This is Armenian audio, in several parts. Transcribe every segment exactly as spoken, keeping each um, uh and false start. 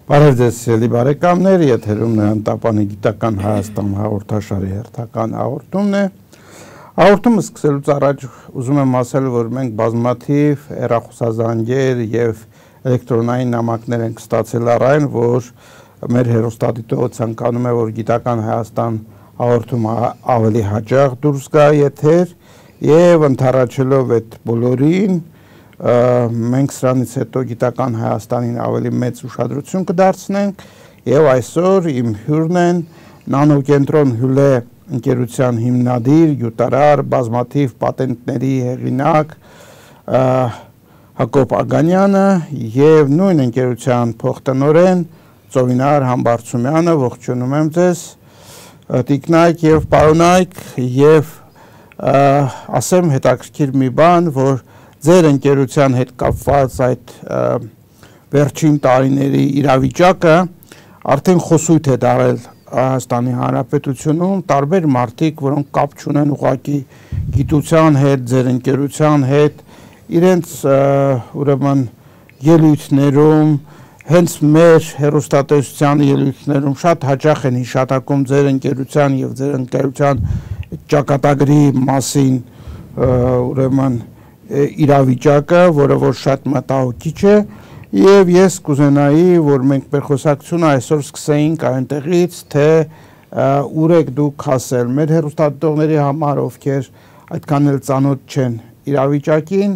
Բարև ձեզ սիրելի բարեկամներ, եթերում Տապանի գիտական Հայաստան հաղորդաշարի հերթական հաղորդումն է։ Հաղորդումը սկսելուց առաջ ուզում եմ ասել, որ մենք բազմաթիվ հեռախոսազանգեր եւ էլեկտրոնային նամակներ ենք ստացել առայն, որ մեր հեռուստադիտողը ցանկանում է, որ գիտական Հայաստան հաղորդումը ավելի հաճախ դուրս գա եթեր եւ ընդառաջելով այդ բոլորին մենք սրանից հետո գիտական Հայաստանին ավելի մեծ ուշադրություն կդարձնենք եւ այսօր իմ հյուրն են նանոկենտրոն հյուլե ընկերության հիմնադիր, յուտարար, բազմաթիվ պատենտների հեղինակ Հակոբ Ագանյանը եւ նույն ընկերության փոխտնօրեն Ծովինար Համբարձումյանը, ողջունում եմ ձեզ, տիկնայք եւ պարոնայք եւ ասեմ հետաքրքիր մի բան, որ ձեր ընկերության հետ կապված այդ վերջին տարիների իրավիճակը արդեն խոսույթ է դարել Հայաստանի Հանրապետությունում, տարբեր մարդիկ, որոնք կապ չունեն ուղղակի գիտության հետ, ձեր ընկերության հետ, իրենց ուրեմն ելույթներում, հենց մեր հեռուստատեսության ելույթներում շատ հաճախ են հիշատակում ձեր ընկերության եւ ձեր ընկերության ճակատագրի մասին, ուրեմն իրավիճակը, որը որ շատ մտահոգիչ է եւ ես կուզենայի, որ մենք մեր խոսակցությունը այսօր սկսեինք այնտեղից, թե ուր եք դուք հասել մեր հեռուստադիտողների համար, ովքեր այդքան էլ ծանոթ չեն իրավիճակին,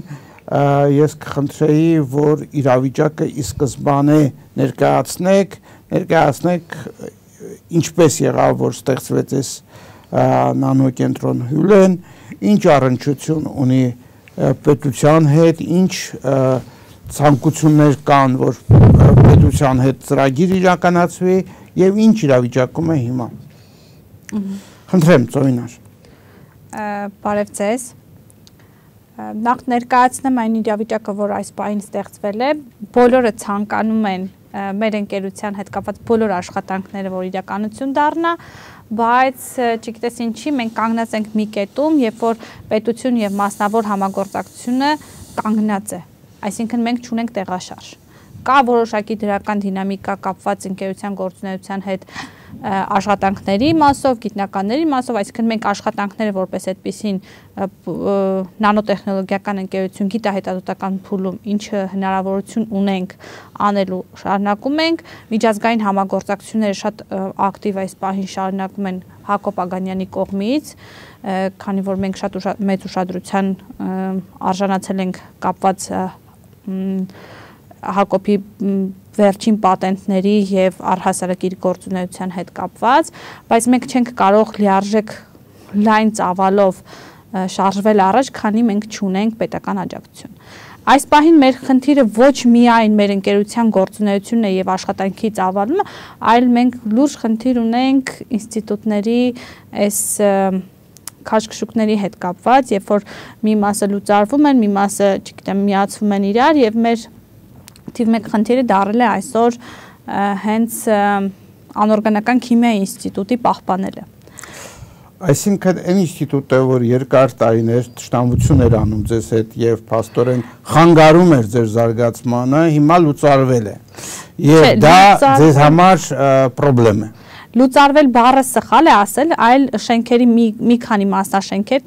ես կխնդրեի, որ իրավիճակը ի սկզբանե ներկայացնեք, ներկայացնեք ինչպես եղավ, որ ստեղծվեց այս նանոկենտրոն հյուլեն, ինչ առնչություն ունի պետության հետ, ինչ ցանկություններ կան, որ պետության հետ ծրագիր իրականացվի եւ ինչ իրավիճակում է հիմա։ Խնդրեմ, Ծովինար։ Բարև ձեզ։ Նախ ներկայացնեմ այն իրավիճակը, որ այս պահին ստեղծվել է, բոլորը ցանկանում են մեր ընկերության հետ կապված բոլոր աշխատանքները, որ իրականություն դառնա, բայց չգիտես ինչի մենք կանգնած ենք մի կետում, երբ որ պետություն եւ մասնավոր համագործակցությունը կանգնած է, այսինքն մենք չունենք տեղաշարժ։ Կա որոշակի դրական դինամիկա կապված ընկերության գործունեության հետ աշխատանքների մասով, գիտնականների մասով, այսինքն մենք աշխատանքները որպես այդպիսին նանոտեխնոլոգիական ընկերություն գիտահետազոտական փուլում ինչ հնարավորություն ունենք անելու շարունակում ենք, միջազգային համագործակցությունները շատ ակտիվ այս պահին շարունակում են Հակոբ Ագանյանի կողմից, քանի որ մենք շատ մեծ ուշադրության արժանացել ենք կապված Հակոբի վերջին պատենտների եւ առհասարակ իր գործունեության հետ կապված, բայց մենք չենք կարող լիարժեք լայն ծավալով շարժվել առաջ, քանի մենք չունենք պետական աջակցություն։ Այս պահին մեր խնդիրը ոչ միայն մեր ընկերության գործունեությունն է եւ աշխատանքի ծավալումը, այլ մենք լուրջ խնդիր ունենք ինստիտուտների այս քաշքշուկների հետ կապված, երբ որ մի մասը լուծարվում են, մի մասը, չգիտեմ, միացվում են իրար եւ մեր թիվ մեկ խնդիրը դարել է այսօր հենց անօրգանական քիմիայի ինստիտուտի պահպանելը։ Այսինքն այն ինստիտուտը, որ երկար տարիներ տշնամություն էր անում ձեզ հետ եւ փաստորեն խանգարում էր ձեր զարգացմանը, հիմա լուծարվել է։ Եվ դա ձեզ համար խնդրեմ է։ Լուծարվել բառը սխալ է ասել, այլ շենքերի մի, մի քանի մասնաշենքեր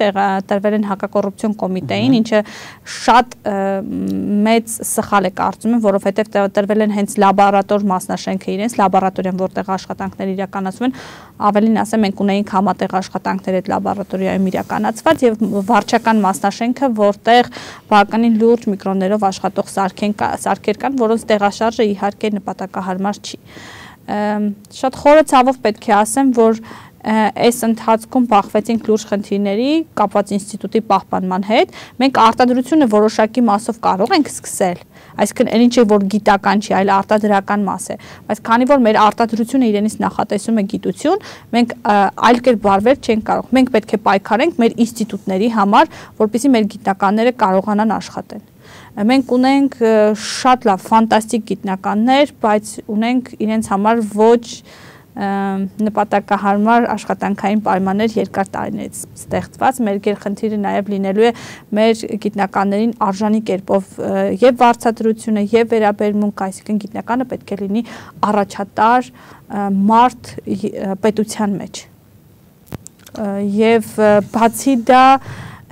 տրվել են հակակոռուպցիոն կոմիտեին, ինչը շատ մեծ սխալ է կարծում եմ, որովհետև տրվել են հենց լաբորատոր մասնաշենքը իրենց, լաբորատորիան, որտեղ աշխատանքներ իրականացվում են, ավելին ասեմ, մենք ունեինք համատեղ աշխատանքներ այդ լաբորատորիայում իրականացված եւ վարչական մասնաշենքը, որտեղ բավականին լուրջ միկրոններով աշխատող սարքեր կան, որոնց տեղաշարժը իհարկե նպատակահարմար չի։ Շատ խորը ցավով պետք է ասեմ, որ այս ընթացքում բախվեցինք լուրջ խնդիրների կապված ինստիտուտի պահպանման հետ, մենք արտադրությունը որոշակի մասով կարող ենք սկսել, այսինքն այն ինչ որ գիտական չի, այլ արտադրական մաս է, բայց քանի որ մեր արտադրությունը իրենից նախատեսում է գիտություն, մենք այլ կերպ վարվել չենք կարող, մենք պետք է պայքարենք մեր ինստիտուտների համար, որպեսզի մեր գիտնականները կարողանան աշխատել։ Մենք ունենք շատ լավ, ֆանտաստիկ գիտնականներ, բայց ունենք իրենց համար ոչ նպատակահարմար աշխատանքային պայմաններ երկար տարիներից ստեղծված, մեր գերխնդիրը նաև լինելու է մեր գիտնականներին արժանի կերպով եւ վարձատրությունը եւ վերաբերմունք, այսինքն գիտնականը պետք է լինի առաջատար մարդ պետության մեջ։ Եվ բացի դա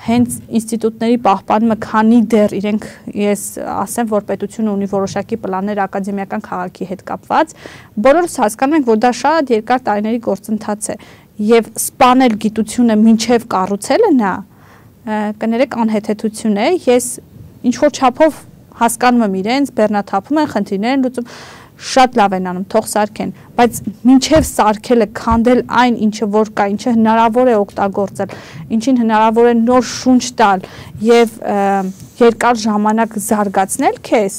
հենց ինստիտուտների պահպանումը, քանի դեռ իրենք, ես ասեմ, որ պետությունը ունի որոշակի պլաններ ակադեմիական քաղաքի հետ կապված, բոլորս հասկանում ենք, որ դա շատ երկար տարիների գործընթաց է եւ սպանել գիտությունը մինչեւ կառուցելը նա կներեք անհեթեթություն է, ես ինչ որ չափով հասկանում եմ իրենց, բեռնաթափում են, խնդիրներ են լուծում, շատ լավ են անում, թող սարքեն, բայց մինչև սարքելը քանդել այն, ինչը որ կա, ինչը հնարավոր է օգտագործել, ինչին հնարավոր է նոր շունչ տալ եւ երկար ժամանակ զարգացնել քեզ,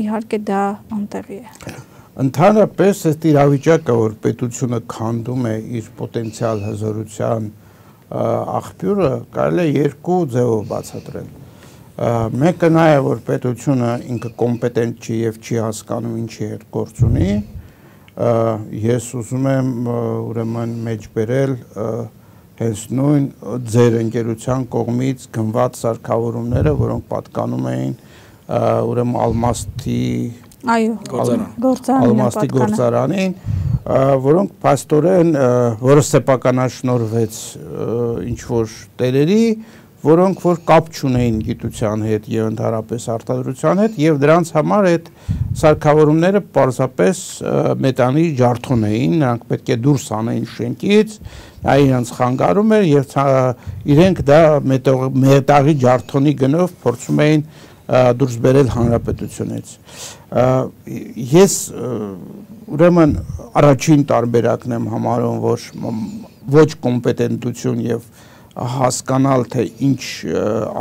իհարկե դա անտեղի է։ Ընդհանրապես այդ իրավիճակը, որ պետությունը քանդում է իր պոտենցիալ հզորության աղբյուրը, կարելի է երկու ձևով բացատրել։ Մեկը նա է, որ պետությունը ինքը կոմպետենտ չի եւ չի հասկանում ինչի հետ գործ ունի, ես ուզում եմ ուրեմն մեջ բերել հենց նույն ձեր ընկերության կողմից գնված սարքավորումները, որոնք պատկանում էին ուրեմն Ալմաստի Ալմաստի գործարանին, որոնք փաստորեն որը սեփականաշնորհվեց ինչ որ տերերի, որոնք որ կապ չունեին գիտության հետ եւ ընդհանրապես արտադրության հետ եւ դրանց համար այդ սարքավորումները պարզապես մետանի ջարդոն էին, նրանք պետք է դուրս անեին շենքից, դա իրենց խանգարում էր եւ իրենք դա մետաղի ջարդոնի գնով փորձում էին դուրս բերել հանրապետությունից։ Ես ուրեմն առաջին տարբերակն եմ համարում, որ ոչ կոմպետենտություն եւ հասկանալ, թե ինչ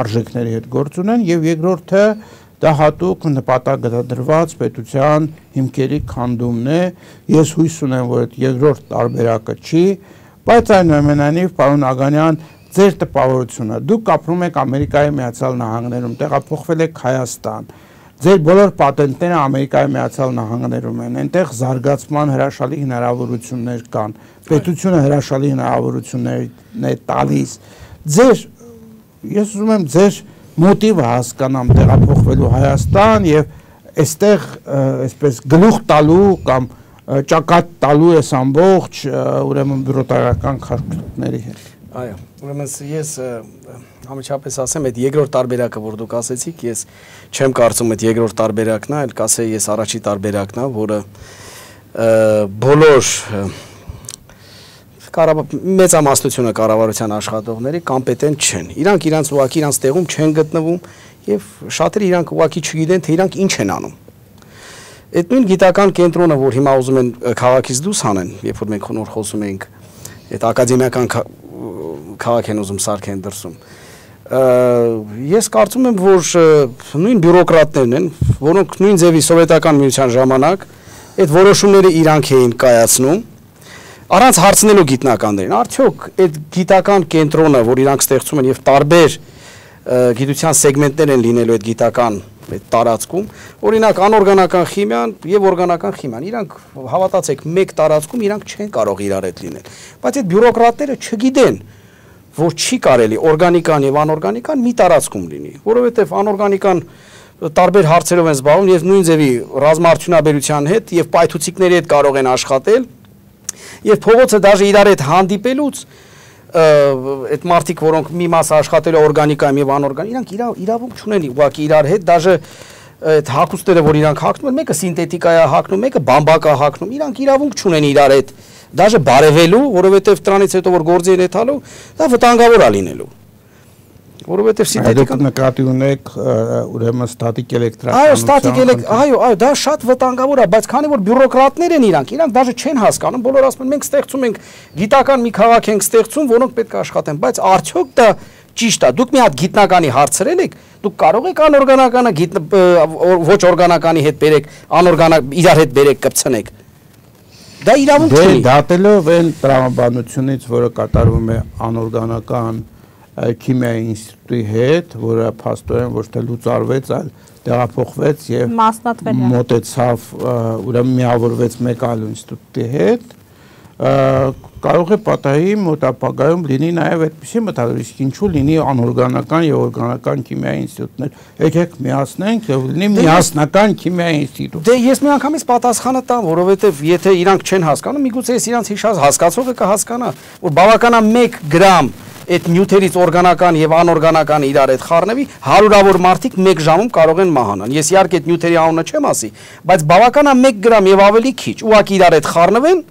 արժեքների հետ գործ ունեն եւ երկրորդը դա հատուկ նպատակադրված պետության հիմքերի քանդումն է։ Ես հույս ունեմ, որ այդ երկրորդ տարբերակը չի, բայց այնուամենայնիվ, պարոն Ագանյան, ձեր տպավորությունը, դուք ապրում եք Ամերիկայի Միացյալ Նահանգներում, տեղափոխվել եք Հայաստան, ձեր բոլոր պատենտները Ամերիկայի Միացյալ Նահանգներում են, այնտեղ զարգացման հրաշալի հնարավորություններ կան, պետությունը հրաշալի հնարավորություններ է տալիս։ Ձեր, ես ուզում եմ ձեր մոտիվը հասկանամ տեղափոխվելու Հայաստան եւ այստեղ այսպես գլուխ տալու կամ ճակատ տալու ես ամբողջ ուրեմն բյուրոկրատական քարտուղարների հետ։ Այո, ուրեմն ես համաչափես ասեմ, այդ երկրորդ տարբերակը, որ դուք ասեցիք, ես չեմ կարծում այդ երկրորդ տարբերակն է, այլ կասեի ես առաջի տարբերակն է, որը բոլոր մեծամասնությունը կառավարության աշխատողների կոմպետենտ չեն։ Իրանք իրանց ուղղակի իրանց տեղում չեն գտնվում եւ շատերը իրանք ուղղակի չգիտեն, թե իրանք ինչ են անում։ Այդ նույն գիտական կենտրոնը, որ հիմա ուզում են քաղաքից դուրս հանեն, երբ որ մենք նոր խոսում ենք, այդ ակադեմիական քաղաք են ուզում սարքեն դրսում։ Ես կարծում եմ, որ նույն բյուրոկրատներն են, որոնք նույն ձևի սովետական միության ժամանակ այդ որոշումները իրանք էին կայացնում, առանց հարցնելու գիտնականներին։ Արդյոք այդ գիտական կենտրոնը, որ իրանք ստեղծում են եւ տարբեր գիտության սեգմենտներ են լինելու այդ գիտական այդ տարածքում, օրինակ անօրգանական քիմիան եւ օրգանական քիմիան, իրանք հավատացեք, մեկ տարածքում իրանք չեն կարող իրար հետ լինել։ Բայց այդ բյուրոկրատները չգիտեն, որ չի կարելի օրգանիկան եւ անօրգանիկան մի տարածքում լինի, որովհետեւ անօրգանիկան տարբեր հարցերով են զբաղվում եւ նույն ձևի ռազմաարդյունաբերության հետ եւ պայթուցիկների հետ կարող են աշխատել եւ փողոցը դաժե իրար հետ հանդիպելուց այդ մարդիկ, որոնք մի մասը աշխատել է օրգանիկայում եւ անօրգան, իրանք իրավունք չունեն ուղղակի իրար հետ, դաժե այդ հակոստները, որ իրանք հակնում են, մեկը սինթետիկա է հակնում, մեկը բամբակ է հակնում, իրանք իրավունք չունեն իրար հետ, դաժե բարևելու, որովհետեւ դրանից հետո որ գործի են եթալու, դա վտանգավոր է լինելու։ Որովհետեւ սինթետիկան նկատի ունեք ուրեմն ստատիկ էլեկտրականություն։ Այո, ստատիկ էլեկտրիկ, այո, այո, դա շատ վտանգավոր է, բայց քանի որ բյուրոկրատներ են իրանք, իրանք դաժե չեն հասկանում, բոլորը ասում են մենք ստեղծում ենք գիտական մի քաղաք ենք ստեղծում, որոնք պետք է աշխատեն, բայց արդյոք դա ճիշտ է։ Դուք մի հատ գիտնականի հարցրել եք, դուք կարող եք անօրգանականը ոչ օրգանականի հետ բերեք, անօրգանակ իրար հետ բերեք, կպցնեք։ Դա իրավունք չի։ Դատելով այն տրամաբանությունից, որը կատարվում է անօրգանական քիմիայի ինստիտուտի հետ, որը փաստորեն ոչ թե լուծարվեց, այլ տեղափոխվեց եւ մոտեցավ, ուրեմն միավորվեց մեկ այլ ինստիտուտի հետ, կարող է պատահի մոտ ապագայում լինի նաև այդպիսի մտադրություն, ինչու լինի անօրգանական եւ օրգանական քիմիայի ինստիտուտներ։ Եկեք միացնենք եւ լինի միասնական քիմիայի ինստիտուտ։ Դե ես միանգամից պատասխանը տամ, որովհետեւ եթե իրանք չեն հասկանում, միգուցե ես իրանք հիշած հասկացողը կհասկանա, որ բավականա մեկ գրամ այդ նյութերից օրգանական եւ անօրգանական իրար հետ խառնվի, հարյուրավոր մարդիկ մեկ ժամում կարող են մահանալ։ Ես իհարկե այդ նյութերի անունը չեմ ասի, բայց բավականա մեկ գրամ եւ ավելի քիչ ուղղակի իրար հետ խառնվեն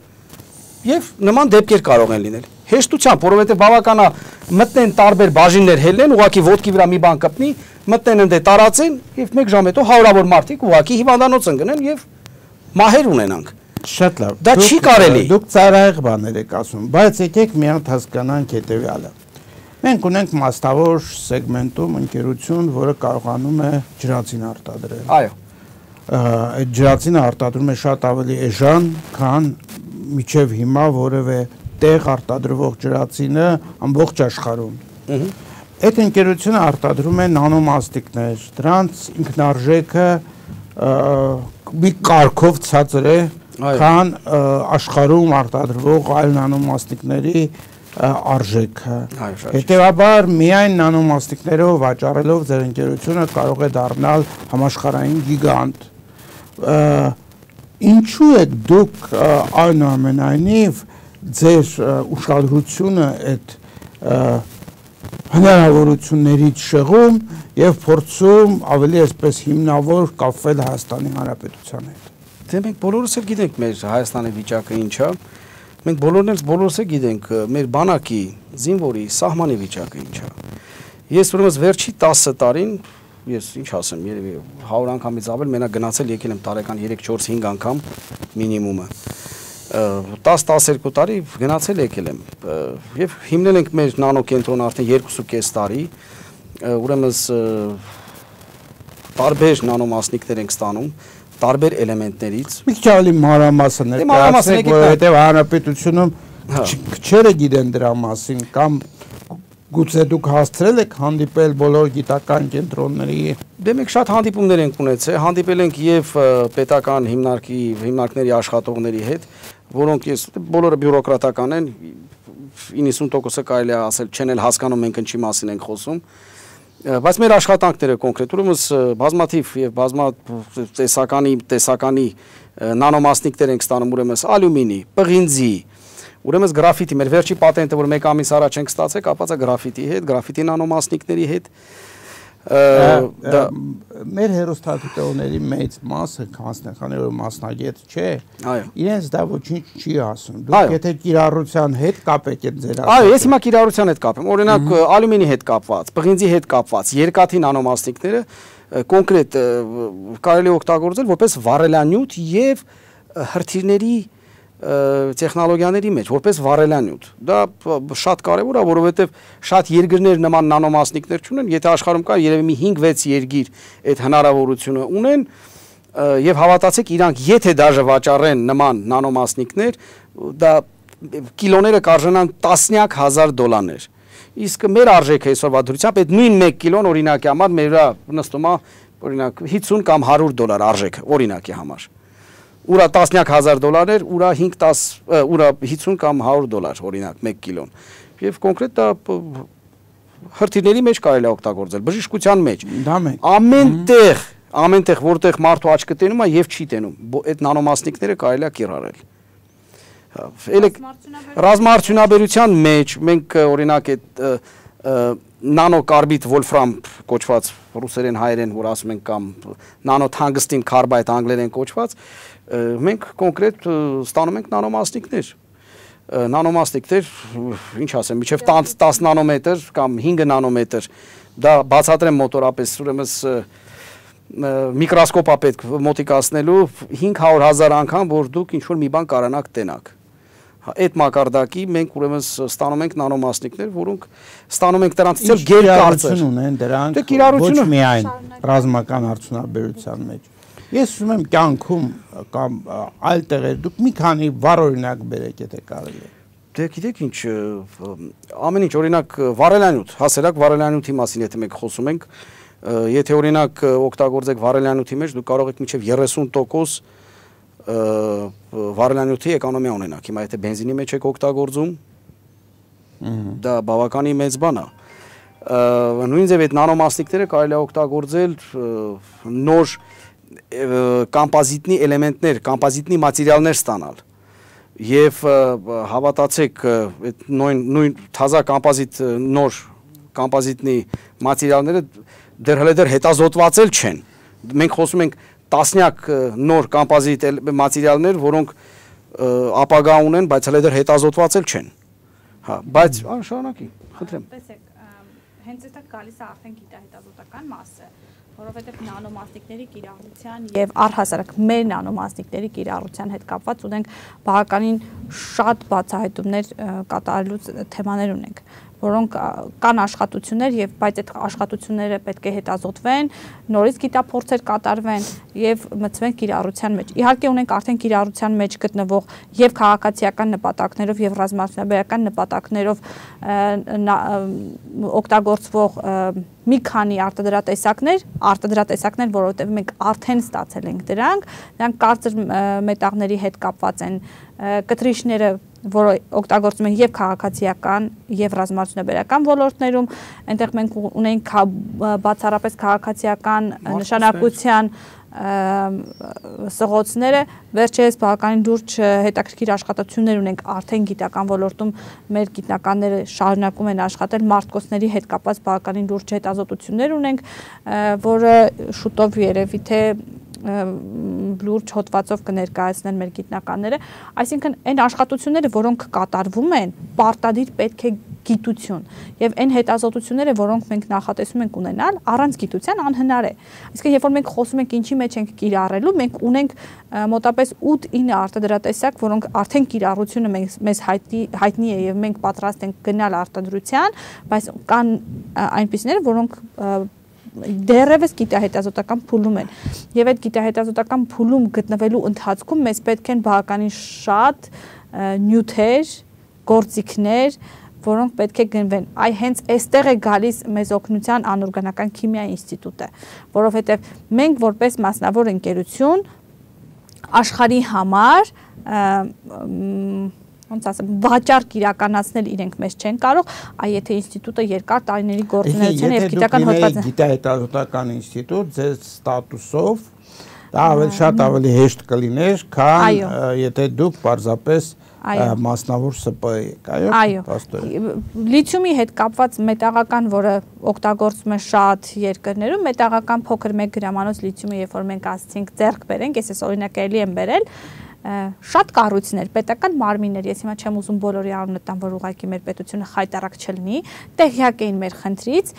եւ նման դեպքեր կարող են լինել։ Հեշտությամբ, որովհետեւ բավականա մտնեն տարբեր բաժիններ հելնեն, ուղղակի ոտքի վրա մի բան կպնի, մտնեն ընդ տարածեն եւ մեկ ժամ հետո հարյուրավոր մարդիկ ուղղակի հիվանդանոց ընկնեն եւ մահեր ունենանք։ Շատ լավ։ Դա չի կարելի։ Դուք ծայրահեղ բաներ եք ասում, բայց եկեք մի հատ հասկանանք հետեւյալը։ Մենք ունենք մասնավոր սեգմենտում ընկերություն, որը կարողանում է ջրածին արտադրել։ Այո։ Այդ ջրածինը արտադրում է շատ ավելի էժան, քան միջև հիմա որևէ տեղ արտադրվող ջրածինը ամբողջ աշխարհում։ Այդ ընկերությունը արտադրում է նանոմաստիկներ, դրանց ինքնարժեքը մի կարգով ցածր է, քան աշխարհում արտադրվող այլ նանոմաստիկների արժեքը։ Հետևաբար միայն նանոմաստիկներով վաճառելով ձեր ընկերությունը կարող է դառնալ համաշխարհային գիգանտ։ Ինչու է դուք այնուամենայնիվ ձեր ուշադրությունը այդ հնարավորություններից շեղում եւ փորձում ավելի այսպես հիմնավոր կապվել Հայաստանի Հանրապետության հետ։ Դե մենք բոլորս էլ գիտենք մեր Հայաստանի վիճակը ինչ է։ Մենք բոլորն էլ բոլորս էլ գիտենք մեր բանակի, զինվորի, սահմանի վիճակը ինչ է։ Ես ուրեմն վերջի տասը տարին, ես ինչ ասեմ, երևի հարյուր անգամից ավել մենակ գնացել եկել եմ տարեկան երեք չորս հինգ անգամ մինիմումը։ տաս տասներկու տարի գնացել եկել եմ եւ հիմնել ենք մեր նանոկենտրոնը արդեն երկու ու կես տարի, ուրեմն տարբեր նանոմասնիկներ ենք ստանում տարբեր էլեմենտներից։ Մի քիչ ավելի մանրամասն ներկայացնեք, որովհետև հանրապետությունում քչերը գիտեն դրա մասին, կամ գուցե դուք հասցրել եք հանդիպել բոլոր գիտական կենտրոնների։ Դե մենք շատ հանդիպումներ ենք ունեցել, հանդիպել ենք եւ պետական հիմնարկի հիմնարկների աշխատողների հետ, որոնք ես բոլորը բյուրոկրատական են, իննսուն տոկոսը կարելի է ասել չեն էլ հասկանում մենք ինչի մասին ենք խոսում։ Բայց մեր աշխատանքները կոնկրետ ուրեմն բազմաթիվ եւ բազմա տեսականի տեսականի նանոմասնիկներ ենք ստանում ուրեմն ալյումինի, պղինձի, ուրեմն գրաֆիտի, մեր վերջի պատենտը, որ մեկ ամիս առաջ ենք ստացել, կապված է գրաֆիտի հետ, գրաֆիտի նանոմասնիկների հետ։ Մեր հերոստատիտողների մեծ մասը, քանի որ մասնագետ չէ, իրենց դա ոչինչ չի ասում։ Դուք եթե կիրառության հետ կապեք այդ ձեր ասածը։ Այո, ես հիմա կիրառության հետ կապեմ։ Օրինակ ալյումինի հետ կապված, պղինձի հետ կապված, երկաթի նանոմասնիկները կոնկրետ կարելի օգտագործել որպես վառելանյութ եւ հրթիռների տեխնոլոգիաների մեջ որպես վառելանյութ։ Դա շատ կարևոր է, որովհետև շատ երկրներ նման նանոմասնիկներ չունեն, եթե աշխարհում կա երևի մի հինգ վեց երկիր այդ հնարավորությունը ունեն, եւ հավատացեք, իրանք եթե դաժե վաճառեն նման նանոմասնիկներ, դա կիլոները կարժենան տասնյակ հազար դոլարներ։ Իսկ մեր արժեքը այսօրվա դրությամբ այդ նույն մեկ կիլոն օրինակի համար մեր նստում է օրինակ հիսուն կամ հարյուր դոլար արժեքը օրինակի համար։ Ուրա տասնյակ հազար դոլարներ, ուրա հինգ տաս, ուրա հիսուն կամ հարյուր դոլար օրինակ մեկ կիլոն։ Եվ կոնկրետ դա հրթիռների մեջ կարելի է օգտագործել, բժշկության մեջ։ Ամենտեղ, ամենտեղ որտեղ մարդու աչքը տենում է եւ չի տենում, այդ նանոմասնիկները կարելի է կիրառել։ Ռազմաարդյունաբերության մեջ մենք օրինակ այդ նանոկարբիդ վոլֆրամ կոչված ռուսերեն հայերեն որ ասում են կամ նանոթանգստին կարբայդ անգլերեն կոչված մենք կոնկրետ ստանում ենք նանոմասնիկներ նանոմասնիկներ ինչ ասեմ միջև տասը նանոմետր կամ հինգ նանոմետր դա բացատրեմ մոտորապես ուրեմն միկրոսկոպ է պետք մոտիկացնելու հինգ հարյուր հազար անգամ որ դուք ինչ որ մի բան կարողանաք տենաք այդ մակարդակի մենք ուրեմն ստանում ենք նանոմասնիկներ, որոնք ստանում ենք դրանցից էլ գերկարծր ունեն դրանք ոչ միայն ռազմական արդյունաբերության մեջ։ Ես ուզում եմ կյանքում կամ այլ տեղեր դուք մի քանի վառ օրինակ բերեք, եթե կարելի է։ Դե գիտեք ինչ, ամեն ինչ օրինակ վարելանյութ, հասարակ վարելանյութի մասին եթե մենք խոսում ենք, եթե օրինակ օգտագործեք վարելանյութի մեջ, դուք կարող եք մինչև երեսուն տոկոս վարելանյութի էկոնոմիա ունենաք։ Հիմա եթե բենզինի մեջ եք օգտագործում, դա բավականին մեծ բան է։ Նույն ձև այդ նանոմասնիկները կարելի է օգտագործել նոր կամպոզիտնի էլեմենտներ, կամպոզիտնի մատերիալներ ստանալ։ Եվ հավատացեք, նույն նույն թազա կամպոզիտ նոր կամպոզիտնի մատերիալները դեռ հələ դեռ հետազոտվածել չեն։ Մենք խոսում ենք տասնյակ նոր կամպոզիտ մատերիալներ, որոնք ապագա ունեն, բայց հələ դեռ հետազոտվածել չեն։ Հա, բայց շարունակի, խնդրեմ։ Տեսեք, հենց այստեղ գալիս է արդեն գիտահետազոտական մասը, որովհետև նանոմասնիկների կիրառության եւ առհասարակ մեր նանոմասնիկների կիրառության հետ կապված ունենք բավականին շատ բացահայտումներ կատարելու թեմաներ ունենք, որոնք կան աշխատություններ եւ բայց այդ աշխատությունները պետք է հետազոտվեն, նորից գիտափորձեր կատարվեն եւ մտցվեն կիրառության մեջ։ Իհարկե ունենք արդեն կիրառության մեջ գտնվող եւ քաղաքացիական նպատակներով եւ ռազմաճնաբերական նպատակներով օգտագործվող մի քանի արտադրատեսակներ, արտադրատեսակներ, որովհետև մենք արդեն ստացել ենք դրանք, դրանք կարծր մետաղների հետ կապված են, կտրիչները, որը օգտագործում են եւ քաղաքացիական եւ ռազմաճնաբերական ոլորտներում, այնտեղ մենք ունենք բացառապես քաղաքացիական նշանակության սղոցները, վերջերս բավականին լուրջ հետաքրքիր աշխատություններ ունենք արդեն գիտական ոլորտում մեր գիտնականները շարունակում են աշխատել մարտկոցների հետ կապված բավականին լուրջ հետազոտություններ ունենք, որը շուտով երևի թե լուրջ հոդվածով կներկայացնեն մեր գիտնականները, այսինքն այն աշխատությունները, որոնք կատարվում են, պարտադիր պետք է գիտություն եւ այն հետազոտությունները, որոնք մենք նախատեսում ենք ունենալ, առանց գիտության անհնար է։ Իսկ երբ որ մենք խոսում ենք ինչի մեջ ենք կիրառելու, մենք ունենք մոտապես ութ-ինը արտադրատեսակ, որոնք արդեն կիրառությունը մեզ հայտնի հայտնի է եւ մենք պատրաստ ենք գնալ արտադրության, բայց կան այնպիսիներ, որոնք դեռևս գիտահետազոտական փուլում են եւ այդ գիտահետազոտական փուլում գտնվելու ընթացքում մեզ պետք են բավականին շատ նյութեր, գործիքներ, որոնք պետք է գնվեն։ Այ հենց այստեղ է գալիս մեզ օգնության անօրգանական քիմիա ինստիտուտը, որովհետեւ մենք որպես մասնավոր ընկերություն աշխարհի համար ոնց ասեմ, վաճառք իրականացնել իրենք մեզ չեն կարող, այ եթե ինստիտուտը երկար տարիների գործունեության եւ գիտական հոդված գիտահետազոտական ինստիտուտ ձեր ստատուսով դա ավելի շատ ավելի հեշտ կլիներ, քան եթե դուք պարզապես մասնավոր ՍՊ եք, այո։ Այո։ Լիթիումի հետ կապված մետաղական, որը օգտագործվում է շատ երկրներում, մետաղական փոքր մեկ գրամանոց լիթիումը, երբ որ մենք ասացինք ձեռք բերենք, ես էս օրինակ էլի եմ բերել, շատ կառույցներ, պետական մարմիններ, ես հիմա չեմ ուզում բոլորի անունը տամ, որ ուղղակի մեր պետությունը խայտարակ չլինի, տեղյակ էին մեր խնդրից,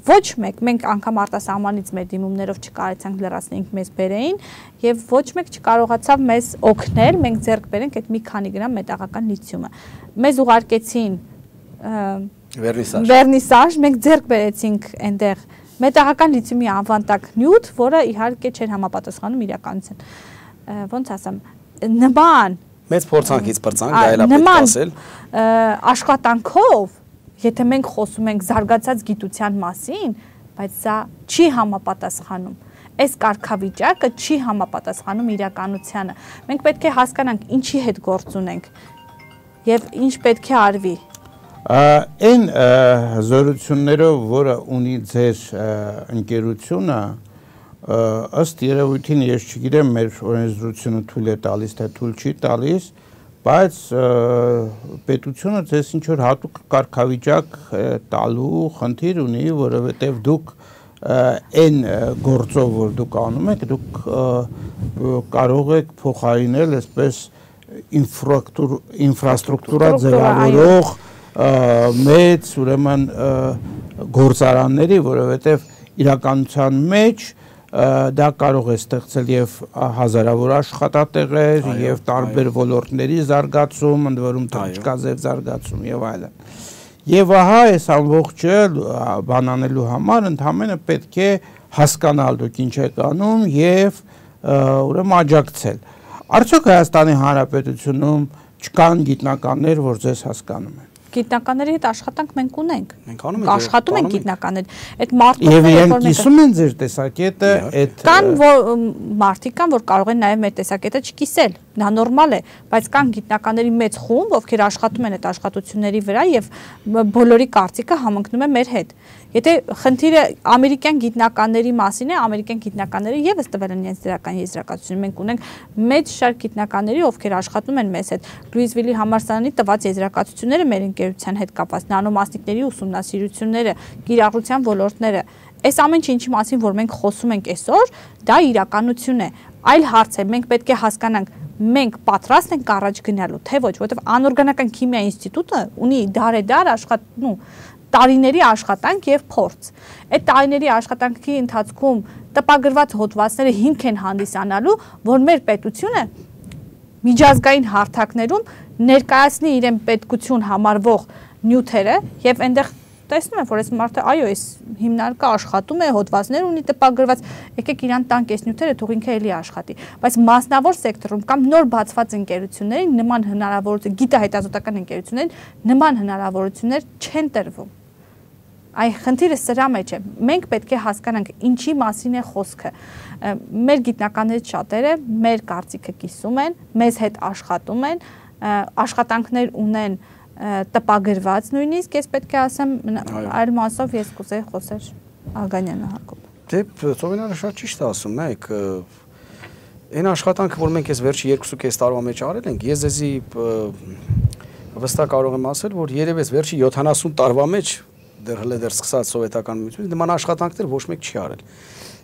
ոչ մեկ, մենք անգամ արտասահմանից մեր դիմումներով չկարեցանք լրացնենք մեզ բերեին եւ ոչ մեկ չկարողացավ մեզ օգնել, մենք ձեռք բերենք այդ մի քանի գրամ մետաղական լիթիումը։ Մեզ ուղարկեցին վերնիսաժ, վերնիսաժ, մենք ձեռք բերեցինք այնտեղ մետաղական լիթիումի անվանտակ նյութ, որը իհարկե չէր համապատասխանում իրականության։ Ոնց ասեմ, նման մեծ փորձանքից բրցանք, դա էլ է պետք ասել, աշխատանքով, եթե մենք խոսում ենք զարգացած գիտության մասին, բայց սա չի համապատասխանում, այս կարգավիճակը չի համապատասխանում իրականությանը։ Մենք պետք է հասկանանք ինչի հետ գործ ունենք եւ ինչ պետք է արվի։ Այն զորություններով, որը ունի ձեր ընկերությունը, ըստ երևույթին ես չգիտեմ մեր օրենսդրությունը թույլ է տալիս, թե թույլ չի տալիս, բայց պետությունը ձեզ ինչ որ հատուկ կարգավիճակ տալու խնդիր ունի, որովհետև դուք այն գործով, որ դուք անում եք, դուք կարող եք փոխարինել այսպես ինֆրաստրուկտուրա ձևավորող մեծ ուրեմն գործարանների, որովհետև իրականության մեջ դա կարող է ստեղծել եւ հազարավոր աշխատատեղեր եւ տարբեր ոլորտների զարգացում, ընդ որում թռչկաձև զարգացում եւ այլն։ Եվ ահա այս ամբողջը բանանելու համար ընդհանրապես պետք է հասկանալ դուք ինչ եք անում եւ ուրեմն աջակցել։ Արդյոք Հայաստանի Հանրապետությունում չկան գիտնականներ, որ ձեզ հասկանում են։ Գիտնականների հետ աշխատանք մենք ունենք։ Մենք անում ենք, աշխատում ենք գիտնականներ։ Այդ մարդիկ մարդիկ որ կիսում են ձեր տեսակետը, այդ կան մարդիկ կան, որ կարող են նաև մեր տեսակետը չկիսել։ Դա նորմալ է, բայց կան գիտնականների մեծ խումբ, ովքեր աշխատում են այդ աշխատությունների վրա եւ բոլորի կարծիքը համընկնում է մեր հետ։ Եթե խնդիրը ամերիկյան գիտնականների մասին է, ամերիկյան գիտնականները եւս տվել են իրենց դրական եզրակացություն։ Մենք ունենք մեծ շարք գիտնականների, ովքեր աշխատում են մեզ հետ։ Լուիզվիլի համալսարանի տված եզրակացությունները մեր ընկերության հետ կապված, նանոմասնիկների ուսումնասիրությունները, կիրառության ոլորտները, այս ամեն ինչի մասին, որ մենք խոսում ենք այսօր, դա իրականություն է։ Այլ հարց է, մենք պետք է հասկանանք, մենք պատրաստ ենք առաջ գնալու, թե ոչ, որովհետև անօրգանական քիմիա ինստիտուտը ունի դարեդար աշխատանք, տարիների աշխատանք եւ փորձ։ Այդ տարիների աշխատանքի ընթացքում տպագրված հոդվածները հիմք են հանդիսանալու, որ մեր պետությունը միջազգային հարթակներում ներկայացնի իրեն պետքություն համարվող նյութերը եւ այնտեղ տեսնում եմ, որ այս մարդը այո, այս հիմնարկը աշխատում է, հոդվածներ ունի տպագրված, եկեք իրան տանք այս նյութերը, թող ինքը էլի աշխատի։ Բայց մասնավոր սեկտորում կամ նոր բացված ընկերություններին նման հնարավորություն, գիտահետազոտական ընկերություններին նման հնարավորություններ չեն տրվում։ Այ խնդիրը սրա մեջ է։ Մենք պետք է հասկանանք ինչի մասին է խոսքը։ Մեր գիտնականներից շատերը մեր կարծիքը կիսում են, մեզ հետ աշխատում են, աշխատանքներ ունեն տպագրված նույնիսկ, ես պետք է ասեմ, այլ մասով ես կուզեի խոսել Ալգանյանը Հակոբ։ Դե Ծովինարը շատ ճիշտ է ասում, նայեք, այն աշխատանքը, որ մենք այս վերջի երկուսուկես տարվա մեջ արել ենք, ես ձեզի վստահ կարող եմ ասել, որ երևի այս վերջի յոթանասուն տարվա մեջ դեռ հենց դեռ սկսած սովետական միությունից նման աշխատանքներ ոչ մեկ չի արել։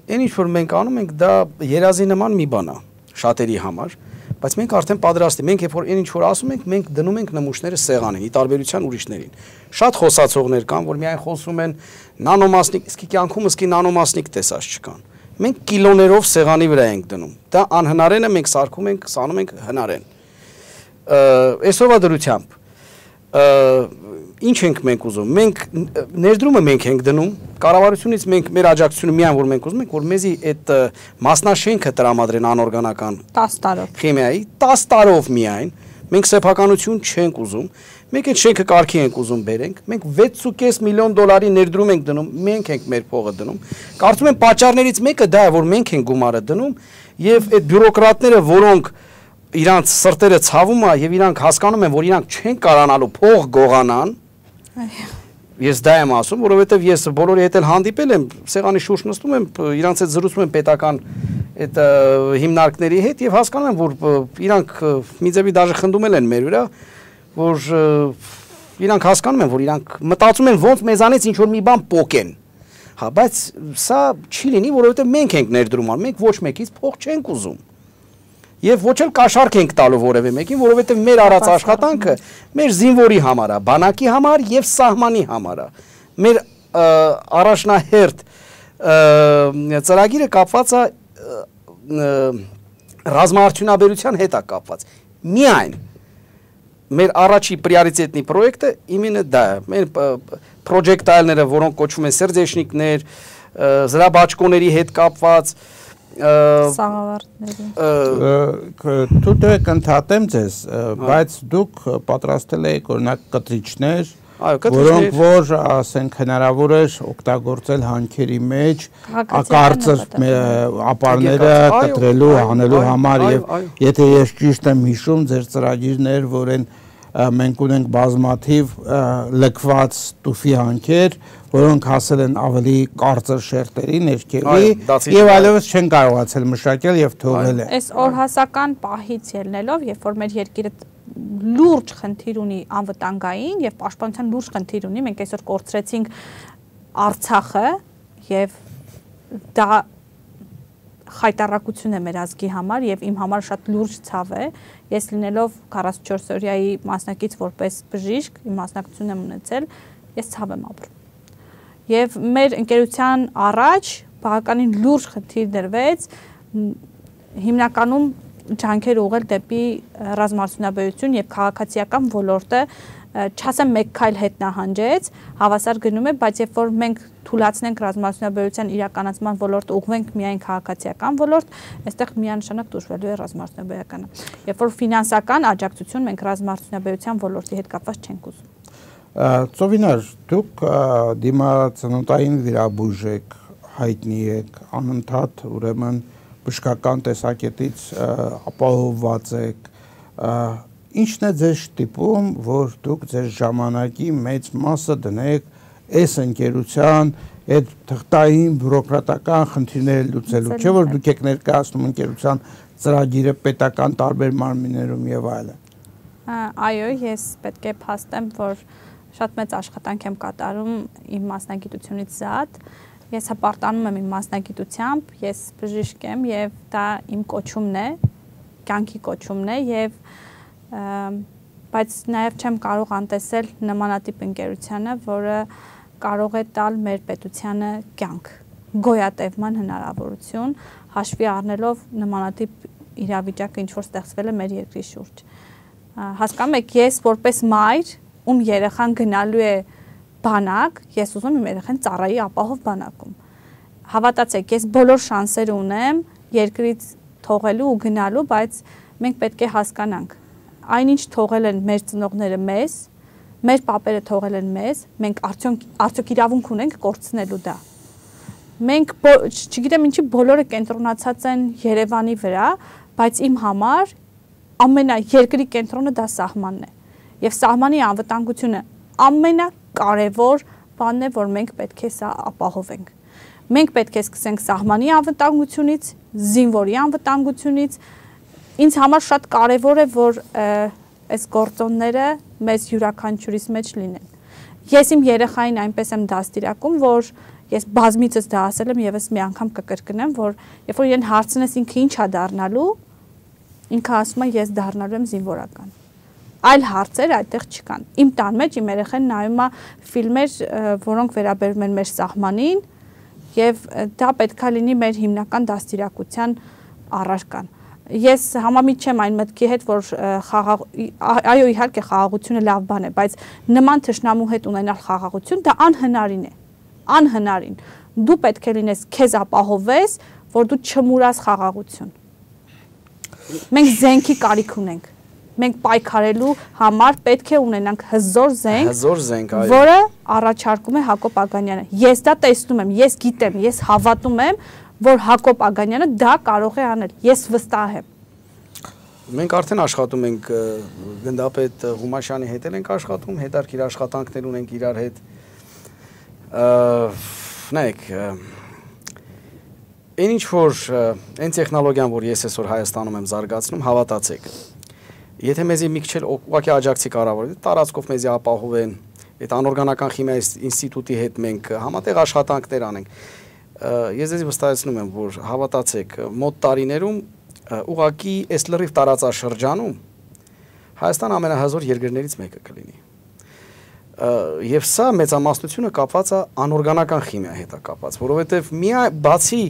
Այն ինչ որ մենք անում ենք, դա երազի նման մի բան է շատերի համար, բայց մենք արդեն պատրաստ ենք, մենք երբ որ այն ինչ որ ասում ենք, մենք դնում ենք նմուշները սեղանին, ի տարբերության ուրիշներին։ Շատ խոսացողներ կան, որ միայն խոսում են նանոմասնիկ, իսկ կյանքումս կի նանոմասնիկ տեսած չկան։ Մենք կիլոներով սեղանի վրա ենք դնում։ Դա անհնարենը մենք սարքում ենք, սանում ենք հնարեն։ Այսօրվա դրությամբ ինչ ենք մենք ուզում։ Մենք ներդրումը մենք ենք դնում, կառավարությունից մենք մեր աջակցությունը միայն որ մենք ուզում ենք, որ մեզի այդ մասնաշենքը տրամադրեն անօրգանական տասը տարով քիմիայի տասը տարով միայն, մենք սեփականություն չենք ուզում, մենք այդ շենքը կարգի ենք ուզում բերենք, մենք վեց ու կես միլիոն դոլարի ներդրում ենք դնում, մենք ենք մեր փողը դնում։ Կարծում եմ պատճառներից մեկը դա է, որ մենք ենք գումարը դնում եւ այդ բյուրոկրատները, որոնք իրանց սրտերը ցավում է եւ իրանք հասկանում են, որ իրանք չեն կարողանալու փող գողանան։ Ես դա եմ ասում, որովհետեւ ես բոլորի հետ էլ հանդիպել եմ, սեղանի շուրջ նստում եմ, իրանց հետ զրուցում եմ պետական այդ հիմնարկների հետ եւ հասկանում եմ, որ իրանք մի ձևի դաժե խնդում են մեր վրա, որ իրանք հասկանում են, որ իրանք մտածում են ոնց մեզանից ինչ որ մի բան պոկեն։ Հա, բայց սա չի լինի, որովհետեւ մենք ենք ներդրում անում, մենք ոչ մեկից փող չենք ուզում։ Եվ ոչ էլ կաշառք ենք տալու որևէ մեկին, որովհետև մեր արած աշխատանքը մեր զինվորի համար է, բանակի համար եւ սահմանի համար է։ Մեր առաջնահերթ ծրագիրը կապված է ռազմաարդյունաբերության հետ է կապված։ Միայն մեր առաջի պրիորիտետնի պրոյեկտը իմենը դա է։ Մեր պրոջեկտայլները, որոնք կոչվում են սերդեշնիկներ, զրաբաճկոների հետ կապված Սաղավարտների Դու դե կընդհատեմ ձեզ, բայց դուք պատրաստել եք օրինակ կտրիչներ, որոնք որ ասենք հնարավոր էր օգտագործել հանքերի մեջ կարծր ապարները կտրելու, հանելու համար եւ եթե ես ճիշտ եմ հիշում, ձեր ծրագիրներ, որ են մենք ունենք բազմաթիվ լքված տուֆի հանքեր, որոնք հասել են ավելի կարծր շերտերի ներքևի եւ այլևս չեն կարողացել մշակել եւ թողել են։ Այս օրհասական պահից ելնելով, երբ որ մեր երկիրը լուրջ խնդիր ունի անվտանգային եւ պաշտպանության լուրջ խնդիր ունի, մենք այսօր կորցրեցինք Արցախը եւ դա խայտարակություն է մեր ազգի համար եւ իմ համար շատ լուրջ ցավ է։ Ես լինելով քառասունչորս օրյայի մասնակից որպես բժիշկ, իմ մասնակցությունն եմ ունեցել, ես ցավ եմ ապրում։ Եվ մեր ընկերության առաջ բավականին լուրջ խնդիր դրվեց, հիմնականում ջանքեր ուղղել դեպի ռազմարդյունաբերություն եւ քաղաքացիական ոլորտը չասեմ մեկ քայլ հետ նահանջեց, հավասար գնում է, բայց երբ որ մենք թույլատնենք ռազմարդյունաբերության իրականացման ոլորտը ուղղենք միայն քաղաքացիական ոլորտ, այստեղ միանշանակ դժվարելու է ռազմարդյունաբերականը։ Երբ որ ֆինանսական աջակցություն մենք ռազմարդյունաբերության ոլորտի հետ կապված չենք ուզում։ Ծովինար, դուք դիմացնոտային վիրաբույժ եք, հայտնի եք, անընդհատ ուրեմն բժշկական տեսակետից ապահովված եք, ինչն է ձեզ շտիպում, որ դուք ձեր ժամանակի մեծ մասը դնեք այս ընկերության այդ թղթային բյուրոկրատական խնդիրները լուծելու, չէ՞ որ դուք եք ներկայացնում ընկերության ծրագիրը պետական տարբեր մարմիններում եւ այլն։ Այո, ես պետք է փաստեմ, որ շատ մեծ աշխատանք եմ կատարում իմ մասնագիտությունից զատ։ Ես հպարտանում եմ իմ մասնագիտությամբ, ես բժիշկ եմ եւ դա իմ կոչումն է, կյանքի կոչումն է եւ բայց նաեւ չեմ կարող անտեսել նմանատիպ ընկերությանը, որը կարող է տալ մեր պետությանը կյանք, գոյատևման հնարավորություն, հաշվի առնելով նմանատիպ իրավիճակը, ինչ որ ստեղծվել է մեր երկրի շուրջ։ Հասկանում եք, ես որպես մայր, ում երեխան գնալու է բանակ, ես ուզում եմ երեխան ծառայի ապահով բանակում։ Հավատացեք, ես բոլոր շանսեր ունեմ երկրից թողելու ու գնալու, բայց մենք պետք է հասկանանք, այնինչ թողել են մեր ծնողները մեզ, մեր պապերը թողել են մեզ, մենք արդյոք արդյոք իրավունք ունենք կորցնելու դա։ Մենք չգիտեմ ինչի բոլորը կենտրոնացած են Երևանի վրա, բայց իմ համար ամենա երկրի կենտրոնը դա սահմանն է։ Եվ սահմանի անվտանգությունը ամենակարևոր բանն է, որ մենք պետք է սա ապահովենք։ Մենք պետք է սկսենք սահմանի անվտանգությունից, զինվորի անվտանգությունից։ Ինձ համար շատ կարևոր է, որ այս գործոնները մեզ յուրաքանչյուրիս մեջ լինեն։ Ես իմ երեխային այնպես եմ դաստիարակում, որ ես բազմիցս դա ասել եմ եւս մի անգամ կկրկնեմ, որ երբ որ իրեն հարցնես ինքը ինչ է դառնալու, ինքը ասում է ես դառնալու եմ զինվորական։ Այլ հարցեր այդտեղ չկան։ Իմ տան մեջ իմ երեխան նայում է ֆիլմեր, որոնք վերաբերում են մեր սահմանին, եւ դա պետքա լինի մեր հիմնական դաստիարակության առարկան։ Ես համամիտ չեմ այն մտքի հետ, որ խաղաղ այո իհարկե խաղաղությունը լավ բան է, բայց նման թշնամու հետ ունենալ խաղաղություն դա անհնարին է։ Անհնարին։ Դու պետք է լինես քեզ ապահովես, որ դու չմուրաս խաղաղություն։ Մենք զենքի կարիք ունենք։ Մենք պայքարելու համար պետք է ունենանք հզոր զենք, հզոր զենք, այո, որը առաջարկում է Հակոբ Ագանյանը։ Ես դա տեսնում եմ, ես գիտեմ, ես հավատում եմ, որ Հակոբ Ագանյանը դա կարող է անել։ Ես վստահ եմ։ Մենք արդեն աշխատում ենք գնդապետ Ղումաշյանի հետ ենք աշխատում, հետարքիր աշխատանքներ ունենք իրար հետ։ Նայեք, այն ինչ որ այն տեխնոլոգիան, որ ես այսօր Հայաստանում եմ զարգացնում, հավատացեք։ Եթե մեզի մի քիչ ուղղակի աջակցի կարավոր է, տարածքով մեզի ապահովեն, այդ անօրգանական քիմիայի ինստիտուտի հետ մենք համատեղ աշխատանքներ անենք։ Ես ձեզ վստահեցնում եմ, որ հավատացեք, մոտ տարիներում ուղղակի այս լրիվ տարածաշրջանում Հայաստան ամենահզոր երկրներից մեկը կլինի։ Եվ սա մեծամասնությունը կապված է անօրգանական քիմիայի հետ է կապված, որովհետև միայն բացի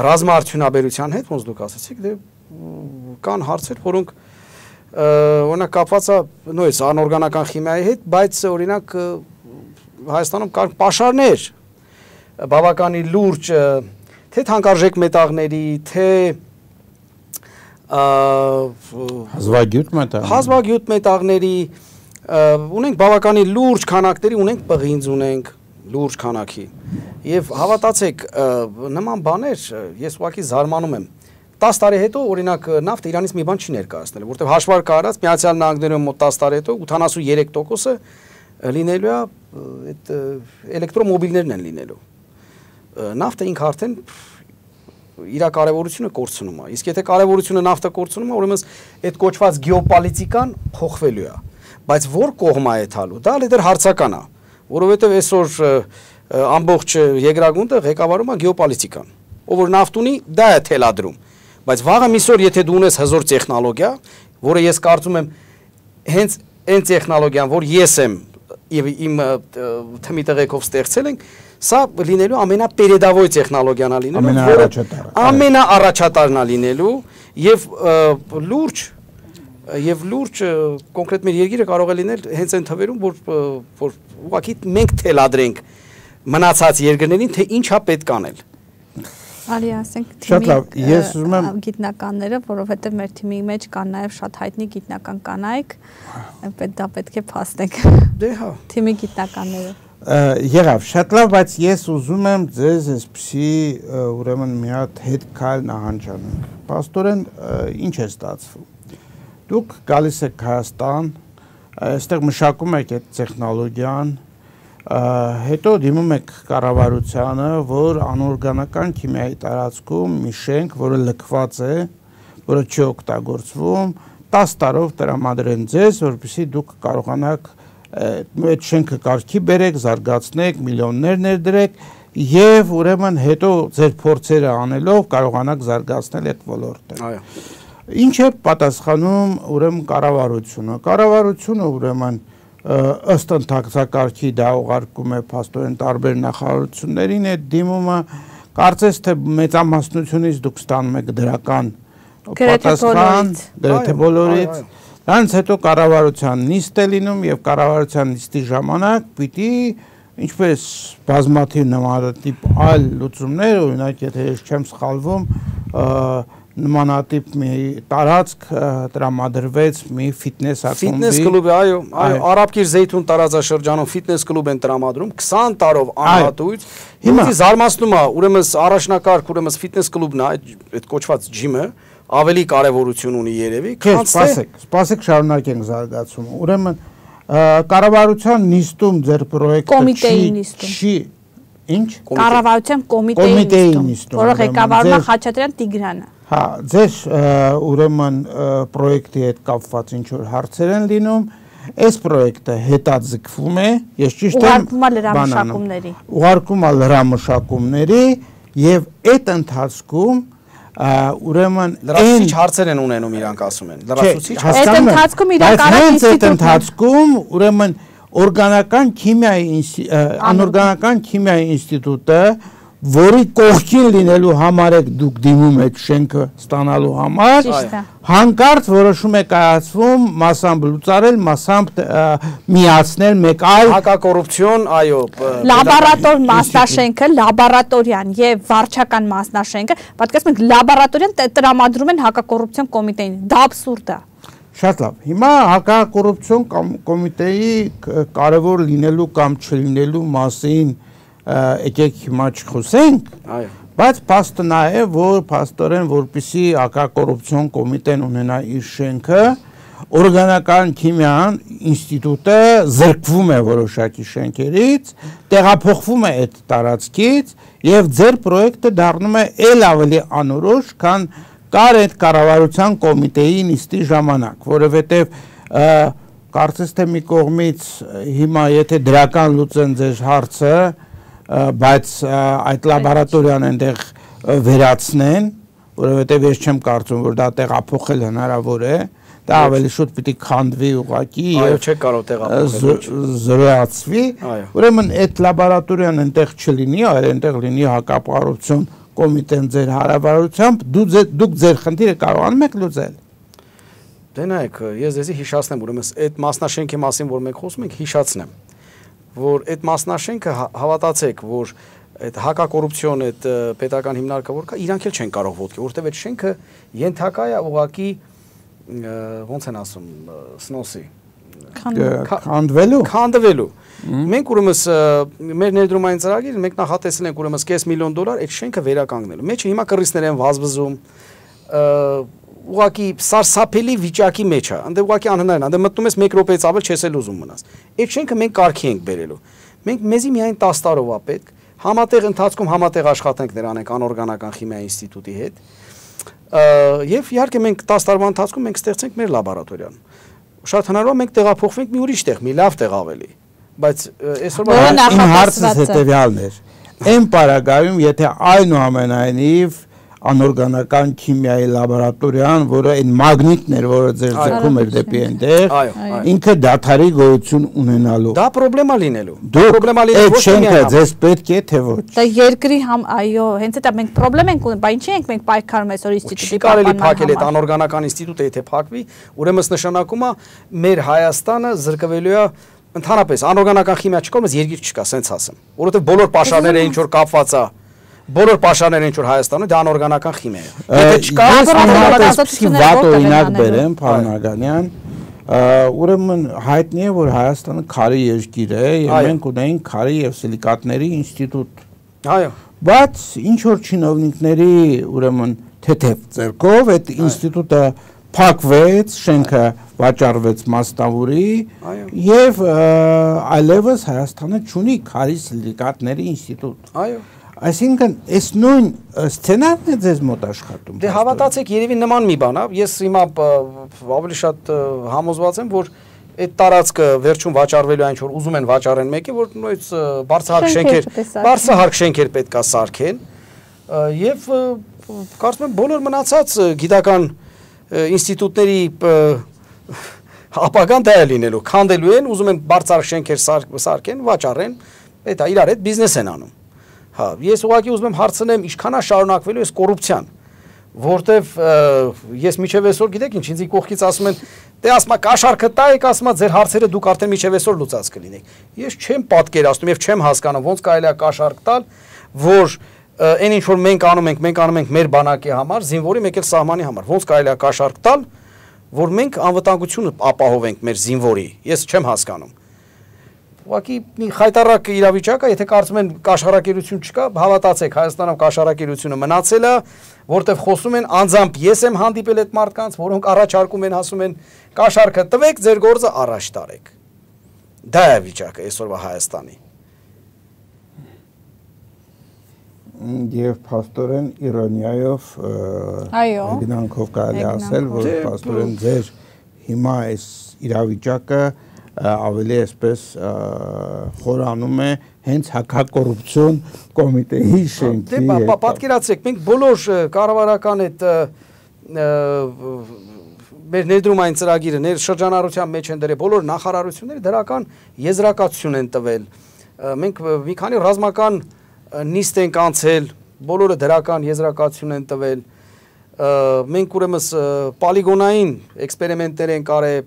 ռազմաարդյունաբերության հետ, ոնց դուք ասացիք, դե կան հարցեր, որոնք օրինակ կապված է նույնիսկ անօրգանական քիմիայի հետ, բայց օրինակ Հայաստանում կան պաշարներ բավականին լուրջ, թե թանկարժեք մետաղների, թե հազվագյուտ մետաղ հազվագյուտ մետաղների, ունենք բավականին լուրջ քանակների, ունենք պղինձ, ունենք լուրջ քանակի։ Եվ հավատացեք, նման բաներ ես ուղղակի զարմանում եմ։ տասը տարի հետո օրինակ նավթը Իրանից մի բան չի ներկայացնել, որտեղ հաշվարկը արած Միացյալ Նահանգներում մոտ տասը տարի հետո ութանասուներեք տոկոսը լինելու է այդ էլեկտրոմոբիլներն են լինելու։ Նավթը ինքը արդեն իր կարևորությունը կորցնում է։ Իսկ եթե կարևորությունը նավթը կորցնում է, ուրեմն այդ կոչված գեոպոլիտիկան փոխվելու է։ Բայց որ կողմա է թալու, դա լեդեր հարցական է, որովհետև այսօր ամբողջ երկրագունդը ղեկավարում է գեոպոլիտիկան, ով որ նավթ ունի, դա է թելադրում։ Բայց վաղը միսօր եթե դու ունես հզոր տեխնոլոգիա, որը ես կարծում եմ հենց այն տեխնոլոգիան, որ ես եմ եւ իմ թմի տղեկով ստեղծել ենք, սա լինելու ամենապերեդավոյ տեխնոլոգիան է լինելու, ամենաառաջատարը, ամենաառաջատարն է լինելու եւ լուրջ եւ լուրջ կոնկրետ մեր երկիրը կարող է լինել հենց այն թվերում, որ որ ուղղակի մենք թելադրենք մնացած երկրներին, թե ինչա պետք անել։ Արի ասենք թիմի ես ուզում եմ գիտնականները, որովհետեւ մեր թիմի մեջ կան նաեւ շատ հայտնի գիտնական կանայք, դա պետք է փաստենք։ Դե հա։ Թիմի գիտնականները։ Եղավ, շատ լավ, բայց ես ուզում եմ ձեզ այսպիսի ուրեմն մի հատ հետ քայլ նահանջանենք։ Պաստորեն ինչ է ստացվում։ Դուք գալիս եք Հայաստան, այստեղ մշակում եք այդ տեխնոլոգիան, հետո դիմում եք կառավարությանը, որ անօրգանական քիմիայի տարածքում մի շենք, որը լքված է, որը չի օգտագործվում, տասը տարով տրամադրեն ձեզ, որպեսզի դուք կարողանաք այդ շենքը կարգի բերեք, զարգացնեք, միլիոններ ներդրեք եւ ուրեմն հետո ձեր փորձերը անելով կարողանաք զարգացնել այդ ոլորտը։ Այո։ Ինչ է պատասխանում ուրեմն կառավարությունը։ Կառավարությունը ուրեմն ըստ ընթացակարգի դա ուղարկում է փաստորեն տարբեր նախարարություններին այդ դիմումը, կարծես թե մեծամասնությունից դուք ստանում եք դրական պատասխան, գրեթե բոլորից։ Դրանից հետո կառավարության նիստ է լինում եւ կառավարության նիստի ժամանակ պիտի ինչպես բազմաթիվ նմանատիպ այլ լուծումներ, օրինակ եթե ես չեմ սխալվում, նմանատիպ մի տարածք տրամադրվեց մի ֆիթնես ակումբի։ Ֆիթնես կլուբի, այո, այո, Արաբկիր Զեյթուն տարածաշրջանում ֆիթնես կլուբ են տրամադրում քսան տարով անհատույց։ Հիմա զարմացնում է, ուրեմն առաջնակարգ, ուրեմն ֆիթնես կլուբն է, այդ կոչված ջիմը ավելի կարևորություն ունի երևի, քան սպասեք, սպասեք շարունակենք զարգացումը։ Ուրեմն կառավարության նիստում ձեր պրոյեկտը չի ինչ? Կառավարության կոմիտեի նիստում, որը ղեկավարում է Խաչատրյան Տիգրանը։ Հա, ձեր ուրեմն պրոյեկտի հետ կապված ինչ որ հարցեր են լինում, այս պրոյեկտը հետաձգվում է, ես ճիշտ եմ ուղարկում է լրամշակումների։ Ուղարկում է լրամշակումների եւ այդ ընթացքում ուրեմն լրացուցիչ հարցեր են ունենում իրանք ասում են լրացուցիչ այդ ընթացքում իրենք արած այդ ընթացքում ուրեմն օրգանական քիմիայի անօրգանական քիմիայի ինստիտուտը, որի կողքին լինելու համար եք դուք դիմում եք շենքը ստանալու համար, հանկարծ որոշում է կայացվում մասամբ լուծարել, մասամբ միացնել մեկ այլ հակակոռուպցիոն, այո, լաբորատոր մասնաշենքը, լաբորատորիան եւ վարչական մասնաշենքը, պատկերացնում եք լաբորատորիան տրամադրում են հակակոռուպցիոն կոմիտեին, դա աբսուրդ է։ Շատ լավ, հիմա հակակոռուպցիոն կոմիտեի կարևոր լինելու կամ չլինելու մասին եկեք հիմա չխոսենք, բայց փաստը նա է, որ փաստորեն որպեսզի հակակոռուպցիոն կոմիտեն ունենա իր շենքը, օրգանական քիմիան ինստիտուտը զրկվում է որոշակի շենքերից, տեղափոխվում է այդ տարածքից եւ ձեր պրոյեկտը դառնում է ել ավելի անորոշ, քան կար այդ կառավարության կոմիտեի նիստի ժամանակ, որովհետեւ կարծես թե մի կողմից հիմա եթե դրական լուծեն ձեր հարցը, բայց այդ լաբորատորիան այնտեղ վերացնեն, որովհետև ես չեմ կարծում, որ դա տեղափոխել հնարավոր է, դա ավելի շուտ պիտի քանդվի ուղղակի եւ չէ կարող տեղափոխել զրոյացվի, ուրեմն այդ լաբորատորիան այնտեղ չլինի, այլ այնտեղ լինի հակակոռուպցիոն կոմիտեն ձեր հարավարությամբ, դուք ձեր խնդիրը կարողանում եք լուծել։ Դե նայեք, ես ձեզի հիշացնեմ, ուրեմն այդ մասնաշենքի մասին, որ մենք խոսում ենք, հիշացնեմ, որ այդ մասնաշենքը հավատացեք, որ այդ հակակոռուպցիոն այդ պետական հիմնարկը որ կա, իրանք էլ չեն կարող ոտքի, որովհետև այդ շենքը ենթակա է ուղղակի ոնց են ասում, սնոսի քանդվելու քանդվելու մենք ուրեմն մեր ներդրումային ծրագիրը մենք նախատեսել ենք ուրեմն կես միլիոն դոլար այդ շենքը վերականգնելու մեջը հիմա կռիվներ են վազվզում ուղղակի սարսափելի վիճակի մեջ է այնտեղ ուղղակի անհնարին այնտեղ մտնում ես մեկ րոպեից ավել չես էլ ուզում մնաս այդ շենքը մենք կարգի ենք բերելու մենք մեզի միայն տասը տարով է պետք համատեղ ընթացքում համատեղ աշխատանքներ անենք անօրգանական քիմիայի ինստիտուտի հետ եւ իհարկե մենք տասը տարվա ընթացքում մենք ստեղծենք մեր լաբորատորիան շատ հնարավոր է մենք տեղափոխվենք մի ուրիշ տեղ մի լավ տեղ ավելի բայց այսօր իմ հարցը հետեւյալն էր այն պարագայում եթե այնուամենայնիվ անօրգանական քիմիայի լաբորատորիան, որը այն մագնիտն էր, որը ձեր ձգում էր դեպի այնտեղ, ինքը դաթարի գոյություն ունենալու։ Դա պրոբլեմա լինելու։ Դա պրոբլեմա լինելու ոչ թե ձեզ պետք է թե ոչ։ Դա երկրի համ այո, հենց դա մենք պրոբլեմ ենք ունենում, բայց ինչի ենք մենք պայքարում այսօր ինստիտուտի կարելի փակել այդ անօրգանական ինստիտուտը, եթե փակվի, ուրեմն նշանակում է մեր Հայաստանը զրկվելու է ընդհանրապես անօրգանական քիմիա չկա, մեզ երկիր չկա, սենց ասեմ, որովհետև բոլոր պաշարները ինչ որ կապված է, բոլոր պաշարները ինչ որ Հայաստանում դա անօրգանական քիմիա է։ Եթե չկա, անօրգանական վատ օրինակ բերեմ, պարոն Ագանյան, ուրեմն հայտնի է, որ Հայաստանը քարի երկիր է, եւ մենք ունենք քարի եւ սիլիկատների ինստիտուտ։ Այո։ Բայց ինչ որ չինովնիկների ուրեմն թեթև ձեռքով այդ ինստիտուտը փակվեց, շենքը վաճառվեց Մասնավուրի եւ այլևս Հայաստանը չունի քարի սիլիկատների ինստիտուտ։ Այո։ Այսինքն այս նույն սցենարն է ձեզ մոտ աշխատում։ Դե հավատացեք, երևի նման մի բան է, ես հիմա ավելի շատ համոզված եմ, որ այդ տարածքը վերջում վաճառվելու այն ինչ որ ուզում են վաճառեն մեկի, որ նույնիսկ բարձրահարկ շենքեր, բարձրահարկ շենքեր պետք է սարքեն եւ կարծում եմ բոլոր մնացած գիտական ինստիտուտների ապագան դա է լինելու, քանդելու են, ուզում են բարձրահարկ շենքեր սարքեն, վաճառեն, դա իրար հետ բիզնես են անում։ Հա, ես ուղղակի ուզում եմ հարցնեմ, ինչքան է շարունակվելու այս կոռուպցիան, որտեվ ես միջև այսօր գիտեք ինչ, ինձ կողքից ասում են, դե ասում եմ կաշառքը տայեք, ասում եմ ձեր հարցերը դուք արդեն միջև այսօր լուծած կլինեք։ Ես չեմ պատկերացնում եւ չեմ հասկանում ոնց կարելի է կաշառք տալ, որ այն ինչ որ մենք անում ենք, մենք անում ենք մեր բանակի համար, զինվորի մեկ էլ սահմանի համար, ոնց կարելի է կաշառք տալ, որ մենք անվտանգությունը ապահովենք մեր զինվորի։ Ես չեմ հասկանում։ Ուղղակի մի խայտարակ իրավիճակ է, եթե կարծում են կաշառակերություն չկա, հավատացեք, Հայաստանում կաշառակերությունը մնացել է, որտեղ խոսում են անձամբ ես եմ հանդիպել այդ մարդկանց, որոնք առաջարկում են, ասում են կաշառքը տվեք, ձեր գործը առաջ տարեք։ Դա է վիճակը այսօրվա Հայաստանի։ Եվ փաստորեն իրոնիայով գնանքով կարելի ասել, որ փաստորեն ձեր հիմա այս իրավիճակը ավելի այսպես խորանում է հենց հակակոռուպցիոն կոմիտեի շենքի հետ։ Դե պատկերացրեք, մենք բոլոր կառավարական այդ մեր ներդրումային ծրագիրը, ներ շրջանառության մեջ են դրել բոլոր նախարարությունները դրական եզրակացություն են տվել։ Մենք մի քանի ռազմական նիստ ենք անցել, բոլորը դրական եզրակացություն են տվել։ Մենք ուրեմն պոլիգոնային էքսպերիմենտներ են կարել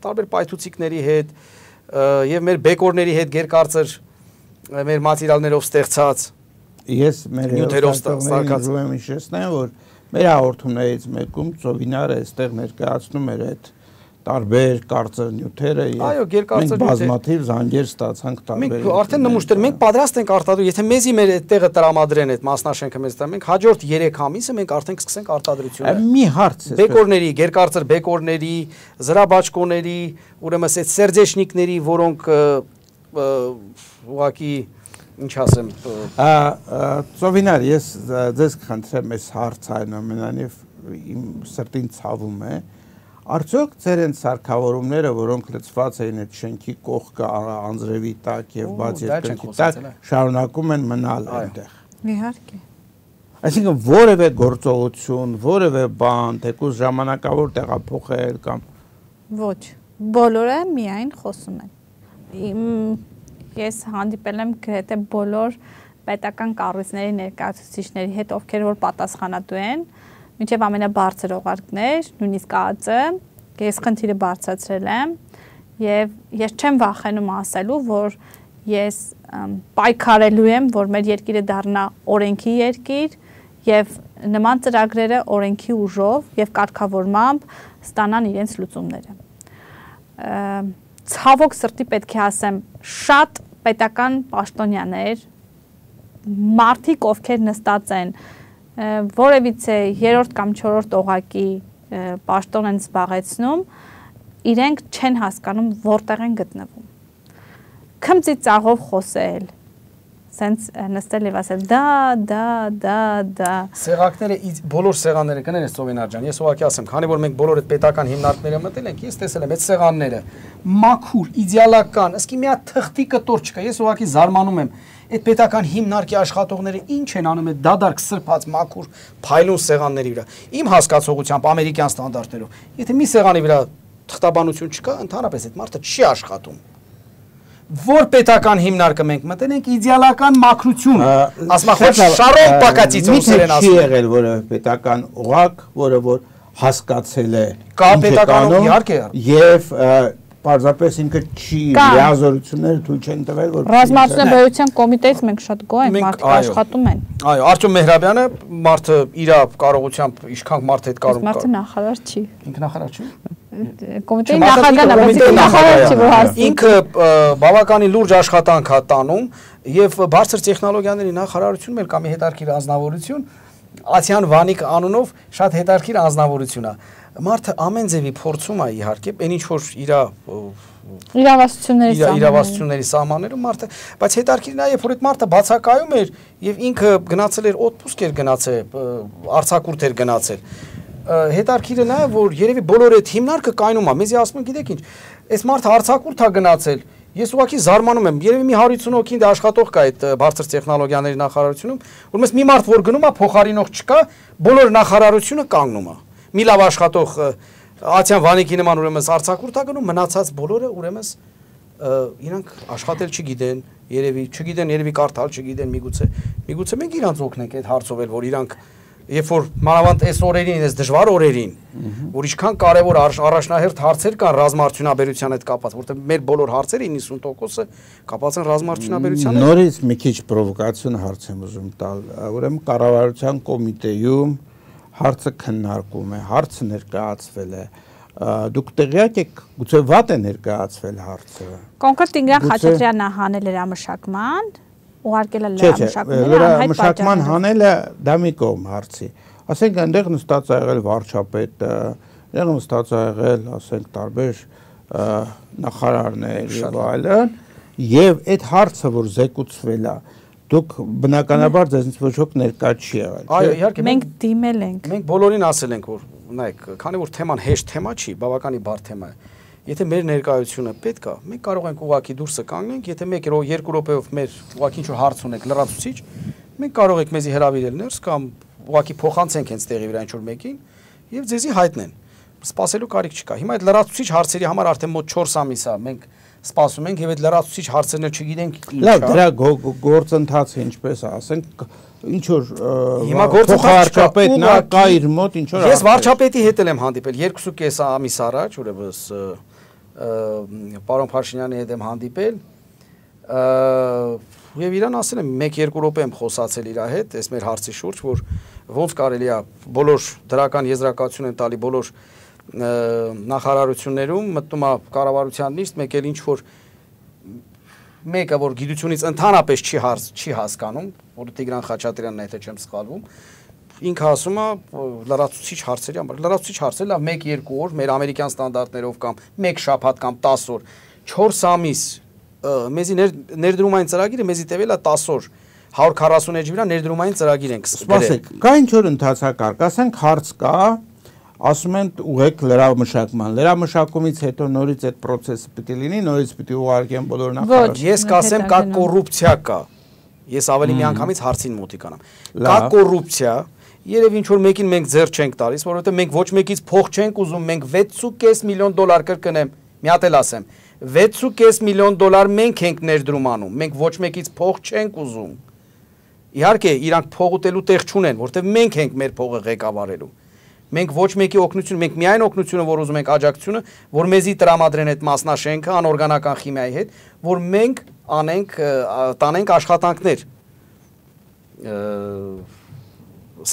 տարբեր պայթուցիկների հետ եւ մեր բեկորների հետ գերկարծր մեր մատերիալներով ստեղծած ես մեր հերոսներին ուզում եմ հիշեցնել, որ մեր հաղորդումներից մեկում Ծովինարը այստեղ ներկայացնում էր այդ տարբեր կարծր նյութերը եւ մենք բազմաթիվ զանգեր ստացանք տարբեր։ Մենք արդեն նմուշտեր, մենք պատրաստ ենք արտադրել, եթե մեզի մեր այդտեղը տրամադրեն այդ մասնաշենքը մեզ տա, մենք հաջորդ երեք ամիսը մենք արդեն կսկսենք արտադրությունը։ Մի հարց է։ Բեկորների, գերկարծր բեկորների, զրաբաճկոների, ուրեմն այդ սերձեշնիկների, որոնք ուղղակի ինչ ասեմ։ Ծովինար, ես ձեզ կխնդրեմ այս հարցը այնուամենայնիվ իմ սրտին ցավում է։ Արդյոք ձեր են սարքավորումները, որոնք լցված էին այդ շենքի կողքը անձրևի տակ եւ բաց երկնքի տակ, շարունակում են մնալ այնտեղ։ Իհարկե։ Այսինքն որևէ գործողություն, որևէ բան, թեկուզ ժամանակավոր տեղափոխել կամ ոչ, բոլորը միայն խոսում են։ Ես հանդիպել եմ գրեթե բոլոր պետական կառույցների ներկայացուցիչների հետ, ովքեր որ պատասխանատու են, մինչև ամենաբարձր օղարկներ, նույնիսկ ԱԱԾ, ես խնդիրը բարձրացրել եմ եւ ես չեմ վախենում ասելու, որ ես պայքարելու եմ, որ մեր երկիրը դառնա օրենքի երկիր եւ նման ծրագրերը օրենքի ուժով եւ կարգավորմամբ ստանան իրենց լուծումները։ Ցավոք սրտի պետք է ասեմ, շատ պետական պաշտոնյաներ, մարդիկ, ովքեր նստած են որևիցե երրորդ կամ չորրորդ օղակի պաշտոն են զբաղեցնում, իրենք չեն հասկանում որտեղ են գտնվում։ Քմծի ծաղով խոսել, սենց նստել եւ ասել դա, դա, դա, դա։ Սեղակները, բոլոր սեղանները կներես Ծովինար ջան, ես ուղղակի ասեմ, քանի որ մենք բոլոր այդ պետական հիմնարկները մտել ենք, ես տեսել եմ այդ սեղանները, մաքուր, իդեալական, ըսկի մի հատ թղթի կտոր չկա, ես ուղղակի զարմանում եմ։ այդ պետական հիմնարկի աշխատողները ինչ են անում այդ դադարք սրբած մաքուր փայլուն սեղանների վրա։ Իմ հասկացողությամբ ամերիկյան ստանդարտներով, եթե մի սեղանի վրա թղթաբանություն չկա, ընդհանրապես այդ մարդը չի աշխատում։ Որ պետական հիմնարկը մենք մտնենք իդեալական մաքրություն, ասма խոր շարով պակացից ուսերեն ասում։ Չի եղել որը պետական օղակ, որը որ հասկացել է կա պետական իհարկե եւ պարզապես ինքը չի լիազորությունները թույլ չեն տվել որ ռազմարտունաբերության կոմիտեից մենք շատ գոհ ենք, մարդիկ աշխատում են։ Այո, Արտյոմ Մեհրաբյանը մարդը իր կարողությամբ ինչքան մարդ հետ կարող մարդը նախարար չի։ Ինքը նախարար չի։ Կոմիտեի նախագահն է, բայց նախարար չի, որ հարցի։ Ինքը բավականին լուրջ աշխատանք է տանում եւ բարձր տեխնոլոգիաների նախարարությունում էլ կա մի հետարքիր անձնավորություն, Ացյան Վանիկ անունով շատ հետարքիր անձնավորություն է։ Մարդը ամեն ձևի փորձում է իհարկե, այն ինչ որ իր իրավասությունների իրավասությունների սահմաններում մարդը, բայց հետարքիրն է, երբ որ այդ մարդը բացակայում էր եւ ինքը գնացել էր օդպուսկ էր գնացել, արձակուրդ էր գնացել։ Հետարքիրը նա որ երևի բոլոր այդ հիմնարկը կայնում է, մեզի ասում են գիտեք ինչ, այս մարդը արձակուրդ է գնացել։ Ես ուղղակի զարմանում եմ, երևի մի հարյուր ութ հոգի աշխատող կա այդ բարձր տեխնոլոգիաների նախարարությունում, որպես մի մարդ որ գնում է, փոխարինող չկա, բոլոր նախարարությունը կանգնում է։ Մի լավ աշխատող Ացյան Վանիկի նման ուրեմն արձակուրդ է գնում, մնացած բոլորը ուրեմն իրանք աշխատել չգիտեն, երևի չգիտեն, երևի կարդալ չգիտեն, միգուցե միգուցե մենք իրանց օգնենք այդ հարցով էլ, որ իրանք երբ որ մանավանդ այս օրերին, այս դժվար օրերին, որ ինչքան կարևոր առաջնահերթ հարցեր կան ռազմաարդյունաբերության հետ կապված, որտեղ մեր բոլոր հարցերը իննսուն տոկոսը կապված են ռազմաարդյունաբերության հետ։ Նորից մի քիչ պրովոկացիոն հարց եմ ուզում տալ, ուրեմն կառավարության կոմիտեում հարցը քննարկում է, հարցը ներկայացվել է, դուք տեղյակ եք, գուցե վատ է ներկայացվել հարցը։ Կոնկրետ Տիգրան Խաչատրյանն հանել էր ամշակման, ուղարկել է լրամշակման, լրամշակման հանելը դա մի կողմ հարցի։ Ասենք այնտեղ նստած ա եղել վարչապետը, այնտեղ նստած ա եղել, ասենք տարբեր նախարարներ եւ այլն, եւ այդ հարցը որ զեկուցվել է, դուք բնականաբար ձեզնից ոչ ոք ներկա չի եղել։ Այո, իհարկե մենք դիմել ենք։ Մենք բոլորին ասել ենք, որ նայեք, քանի որ թեման հեշտ թեմա չի, բավականին բարդ թեմա է։ Եթե մեր ներկայությունը պետք է, մենք կարող ենք ուղղակի դուրսը կանգնենք, եթե մեկ երկու րոպեով մեր ուղղակի ինչ-որ հարց ունենք լրացուցիչ, մենք կարող ենք մեզի հրավիրել ներս կամ ուղղակի փոխանցենք հենց տեղի վրա ինչ-որ մեկին եւ ձեզի հայտնեն։ Սպասելու կարիք չկա։ Հիմա այդ լրացուցիչ հարցերի համար արդեն մոտ չորս ամիս է մենք սպասում ենք եւ այդ լրացուցիչ հարցերն էլ չգիտենք ինչ է։ Լավ, դրա գործընթացը ինչպես է, ասենք ինչ որ հիմա գործընթացը կա իր մոտ ինչ որ։ Ես վարչապետի հետ եմ հանդիպել երկուսուկես ամիս առաջ, ուրեմն պարոն Փաշինյանի հետ եմ հանդիպել եւ իրան ասել եմ մեկ երկու րոպե եմ խոսացել իր հետ այս մեր հարցի շուրջ, որ ոնց կարելի է բոլոր դրական եզրակացություն են տալի բոլոր նախարարություններում մտնում է կառավարության նիստ, մեկ էլ ինչ որ մեկը որ գիտությունից ընդհանրապես չի հարց չի հասկանում, որը Տիգրան Խաչատրյանն է, եթե չեմ սխալվում, ինքը ասում է լրացուցիչ հարցերի համար, լրացուցիչ հարցեր, լավ մեկ երկու օր մեր ամերիկյան ստանդարտներով կամ մեկ շաբաթ կամ տասը օր, չորս ամիս մեզի ներդրումային ծրագիրը մեզի տևել է տասը օր, հարյուր քառասուն էջի վրա ներդրումային ծրագիր ենք սպասեք, կա ինչ որ ընթացակարգ, ասենք հարց կա, ասում են ուղեք լրամշակման, լրամշակումից հետո նորից այդ process-ը պիտի լինի, նորից պիտի ուղարկեն բոլոր նախարարությունները։ Ես կասեմ կա կոռուպցիա կա։ Ես ավելի մի անգամից հարցին մոտիկանամ։ Կա կոռուպցիա, երևի ինչ որ մեկին մենք ձեռ չենք տալիս, որովհետև մենք ոչ մեկից փող չենք ուզում, մենք վեց ու կես միլիոն դոլար կրկնեմ, մի հատ էլ ասեմ, վեց ու կես միլիոն դոլար մենք ենք ներդրում անում, մենք ոչ մեկից փող չենք ուզում։ Իհարկե, իրանք փող ուտելու տեղ չունեն, որովհետև մենք ենք մեր փողը ղեկավարելու։ Մենք ոչ մեկի օգնություն, մենք միայն օգնությունը, որ ուզում ենք աջակցությունը, որ մեզի տրամադրեն այդ մասնաշենքը անօրգանական քիմիայի հետ, որ մենք անենք, տանենք աշխատանքներ,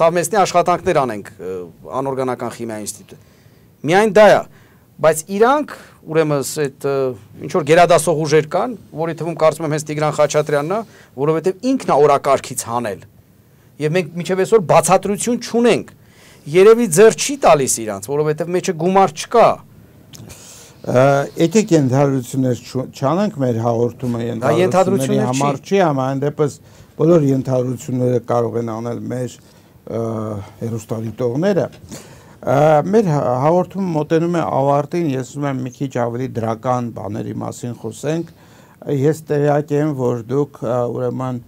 սավմեսնի աշխատանքներ անենք անօրգանական քիմիայի ինստիտուտը։ Միայն դա է, բայց իրանք ուրեմն այդ ինչ որ գերադասող ուժեր կան, որի թվում կարծում եմ հենց Տիգրան Խաչատրյանն է, որովհետև ինքն է օրակարգից հանել։ Եվ մենք մինչև այսօր բացատրություն չունենք։ Երևի ձեռ չի տալիս իրանց, որովհետև մեջը գումար չկա։ Եկեք ենթադրություններ չանենք մեր հաղորդումը ենթադրությունների համար չի, համայն դեպս բոլոր ենթադրությունները կարող են անել մեր հեռուստադիտողները։ Մեր հաղորդումը մոտենում է ավարտին, ես ուզում եմ մի քիչ ավելի դրական բաների մասին խոսենք, ես տեղյակ եմ, որ դուք ուրեմն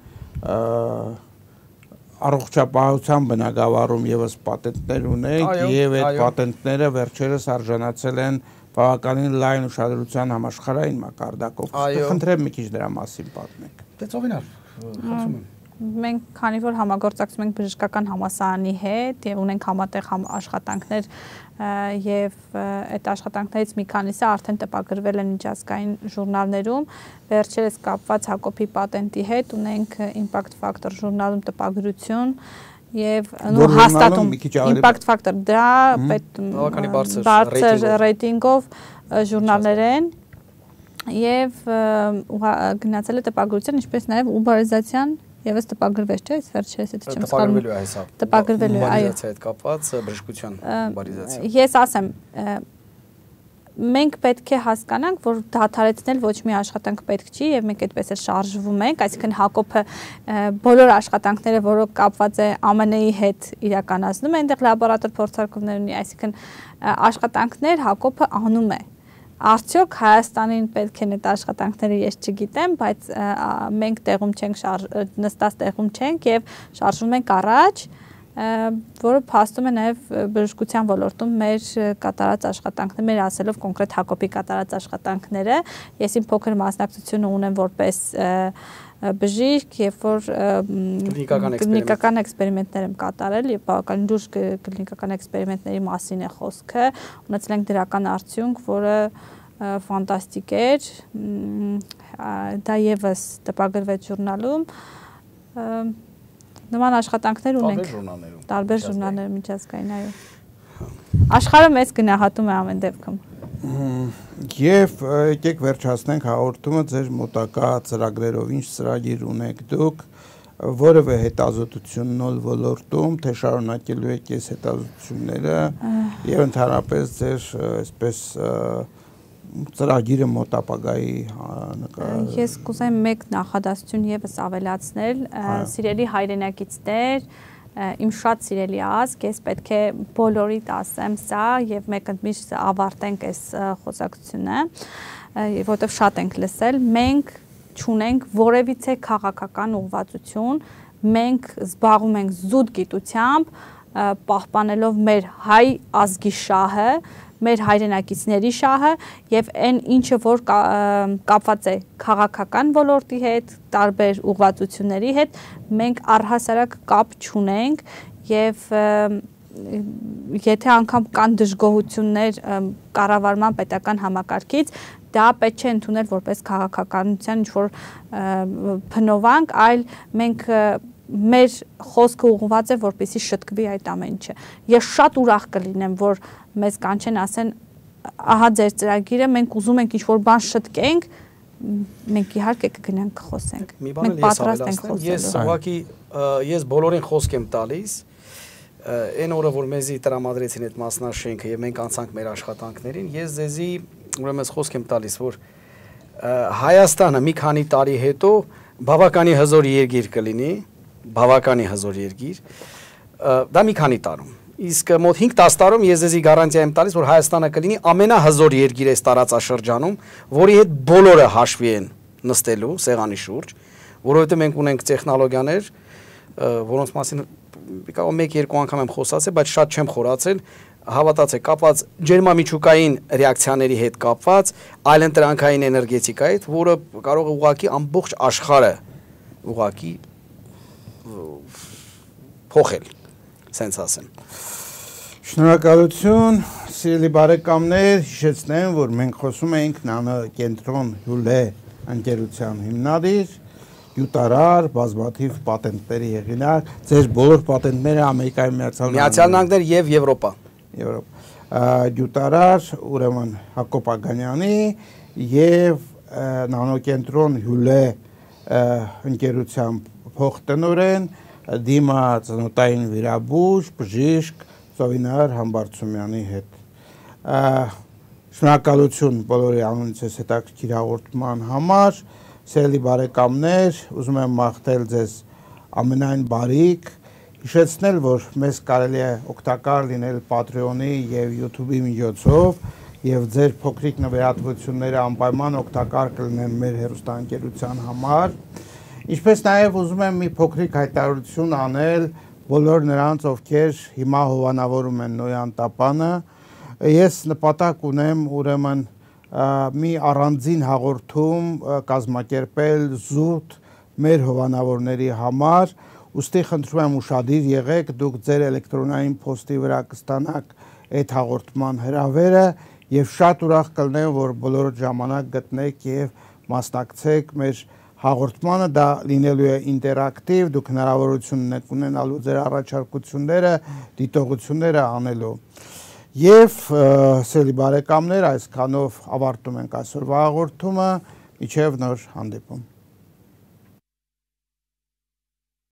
առողջապահության բնագավառում եւս պատենտներ ունեք եւ այդ պատենտները վերջերս արժանացել են բավականին լայն ուշադրության համաշխարհային մակարդակով։ Խնդրեմ մի քիչ դրա մասին պատմեք։ Դե ծովինար, խնդրում եմ։ Մենք քանի որ համագործակցում ենք բժշկական համալսարանի հետ եւ ունենք համատեղ աշխատանքներ եւ այդ աշխատանքներից մի քանիսը արդեն տպագրվել են միջազգային ժուրնալներում, վերջերս կապված Հակոբի պատենտի հետ ունենք Impact Factor ժուրնալում տպագրություն եւ նո հաստատում Impact Factor դա բավականին բարձր ռեյտինգով ժուրնալներ են եւ գնացել է տպագրության, ինչպես նաեւ ուբարիզացիան Եվս տպագրվեց, չէ՞, այս վերջերս էդի չեմ սխալվում։ Տպագրվելու է հեսա։ Տպագրվելու է, այո։ Ուբարիզացիա հետ կապված բժշկության ուբարիզացիա։ Ես ասեմ, մենք պետք է հասկանանք, որ դադարեցնել ոչ մի աշխատանք պետք չի եւ մենք այդպես էլ շարժվում ենք, այսինքն Հակոբը բոլոր աշխատանքները, որոնք կապված է A M N-ի հետ իրականացնում է, այնտեղ լաբորատոր փորձարկումներ ունի, այսինքն աշխատանքներ Հակոբը անում է։ Արդյոք Հայաստանին պետք է այդ աշխատանքները ես չգիտեմ, բայց մենք տեղում չենք, նստած տեղում չենք եւ շարժվում ենք առաջ, որը փաստում է նաեւ բժշկության ոլորտում մեր կատարած աշխատանքները, մեր ասելով կոնկրետ Հակոբի կատարած աշխատանքները, ես իմ փոքր մասնակցությունը ունեմ որպես բժիշկ, երբ որ կլինիկական էքսպերիմենտներ եմ կատարել եւ բավականին դուրս կլինիկական էքսպերիմենտների մասին է խոսքը, ունեցել ենք դրական արդյունք, որը ֆանտաստիկ էր, դա եւս տպագրվեց ժուրնալում, նման աշխատանքներ ունենք տարբեր ժուրնալներում միջազգային, այո։ Աշխարհը մեզ գնահատում է ամեն դեպքում։ Եվ եկեք վերջացնենք հաղորդումը ձեր մոտակա ծրագրերով, ինչ ծրագիր ունեք դուք, որևէ հետազոտություն նոր ոլորտում, թե շարունակելու եք այս հետազոտությունները եւ ընդհանրապես ձեր այսպես ծրագիրը մոտ ապագայի նկատմամբ։ Ես կուզեմ մեկ նախադասություն եւս ավելացնել, սիրելի հայրենակիցներ, իմ շատ սիրելի ազգ, ես պետք է բոլորիդ ասեմ սա եւ մեկ ընդմիշտ ավարտենք այս խոսակցությունը, որտեղ շատ ենք լսել, մենք չունենք որևիցե քաղաքական ուղղվածություն, մենք զբաղվում ենք զուտ գիտությամբ, պահպանելով մեր հայ ազգի շահը, մեր հայրենակիցների շահը եւ այն ինչը որ կապված է քաղաքական ոլորտի հետ, տարբեր ուղղվածությունների հետ, մենք առհասարակ կապ չունենք եւ եթե անգամ կան դժգոհություններ կառավարման պետական համակարգից, դա պետք չէ ընդունել որպես քաղաքականության ինչ-որ փնովանք, այլ մենք մեր խոսքը ուղղված է որպեսզի շտկվի այդ ամեն ինչը։ Ես շատ ուրախ կլինեմ, որ մեզ կանչեն ասեն, ահա ձեր ծրագիրը, մենք ուզում ենք ինչ-որ բան շտկենք, մենք իհարկե կգնանք խոսենք։ Մենք պատրաստ ենք խոսելու։ Ես ուղղակի ես բոլորին խոսք եմ տալիս, այն օրը որ մեզի տրամադրեցին այդ մասնաշենքը եւ մենք անցանք մեր աշխատանքներին, ես ձեզի ուրեմն խոսք եմ տալիս, որ Հայաստանը մի քանի տարի հետո բավականի հզոր երկիր կլինի, բավականի հզոր երկիր, դա մի քանի տարում։ Իսկ մոտ հինգ-տասը տարում ես ձեզի գարանտիա եմ տալիս, որ Հայաստանը կլինի ամենահզոր երկիրը այս տարածաշրջանում, որի հետ բոլորը հաշվի են նստելու սեղանի շուրջ, որովհետև մենք ունենք տեխնոլոգիաներ, որոնց մասին մեկ-երկու անգամ եմ խոսացել, բայց շատ չեմ խորացել, հավատացեք, կապված ջերմամիջուկային ռեակցիաների հետ կապված, այլընտրանքային էներգետիկայի հետ, որը կարող է ուղղակի ամբողջ աշխարհը ուղղակի փոխել, սենց ասեմ։ Շնորհակալություն, սիրելի բարեկամներ, հիշեցնեմ, որ մենք խոսում ենք նանոկենտրոն Հյուլե ընկերության հիմնադիր, յուտարար, բազմաթիվ պատենտների հեղինակ, ձեր բոլոր պատենտները Ամերիկայի Միացյալ Նահանգներ եւ Եվրոպա։ Եվրոպա։ Յուտարար, ուրեմն Հակոբ Ագանյանի եւ նանոկենտրոն Հյուլե ընկերության փոխտնօրեն Դիմա ծնոտային վիրաբույժ, բժիշկ Ծովինար Համբարձումյանի հետ։ Շնորհակալություն բոլորի անունից այս հետաքրքիր հաղորդման համար, սիրելի բարեկամներ, ուզում եմ մաղթել ձեզ ամենայն բարիք, հիշեցնել, որ մեզ կարելի է օգտակար լինել Patreon-ի եւ YouTube-ի միջոցով եւ ձեր փոքրիկ նվիրատվությունները անպայման օգտակար կլինեն մեր հեռուստաընկերության համար։ Ինչպես նաեւ ուզում եմ մի փոքրիկ հայտարարություն անել բոլոր նրանց, ովքեր հիմա հովանավորում են Նոյան տապանը։ Ես նպատակ ունեմ ուրեմն մի առանձին հաղորդում կազմակերպել զուտ մեր հովանավորների համար, ուստի խնդրում եմ ուշադիր եղեք, դուք ձեր էլեկտրոնային փոստի վրա կստանաք այդ հաղորդման հրավերը եւ շատ ուրախ կլինեմ, որ բոլոր ժամանակ գտնեք եւ մասնակցեք մեր հաղորդմանը, դա լինելու է ինտերակտիվ, դուք հնարավորություն եք ունենալու ձեր առաջարկությունները, դիտողությունները անելու։ Եվ սիրելի բարեկամներ, այսքանով ավարտում ենք այսօրվա հաղորդումը, մինչև նոր հանդիպում։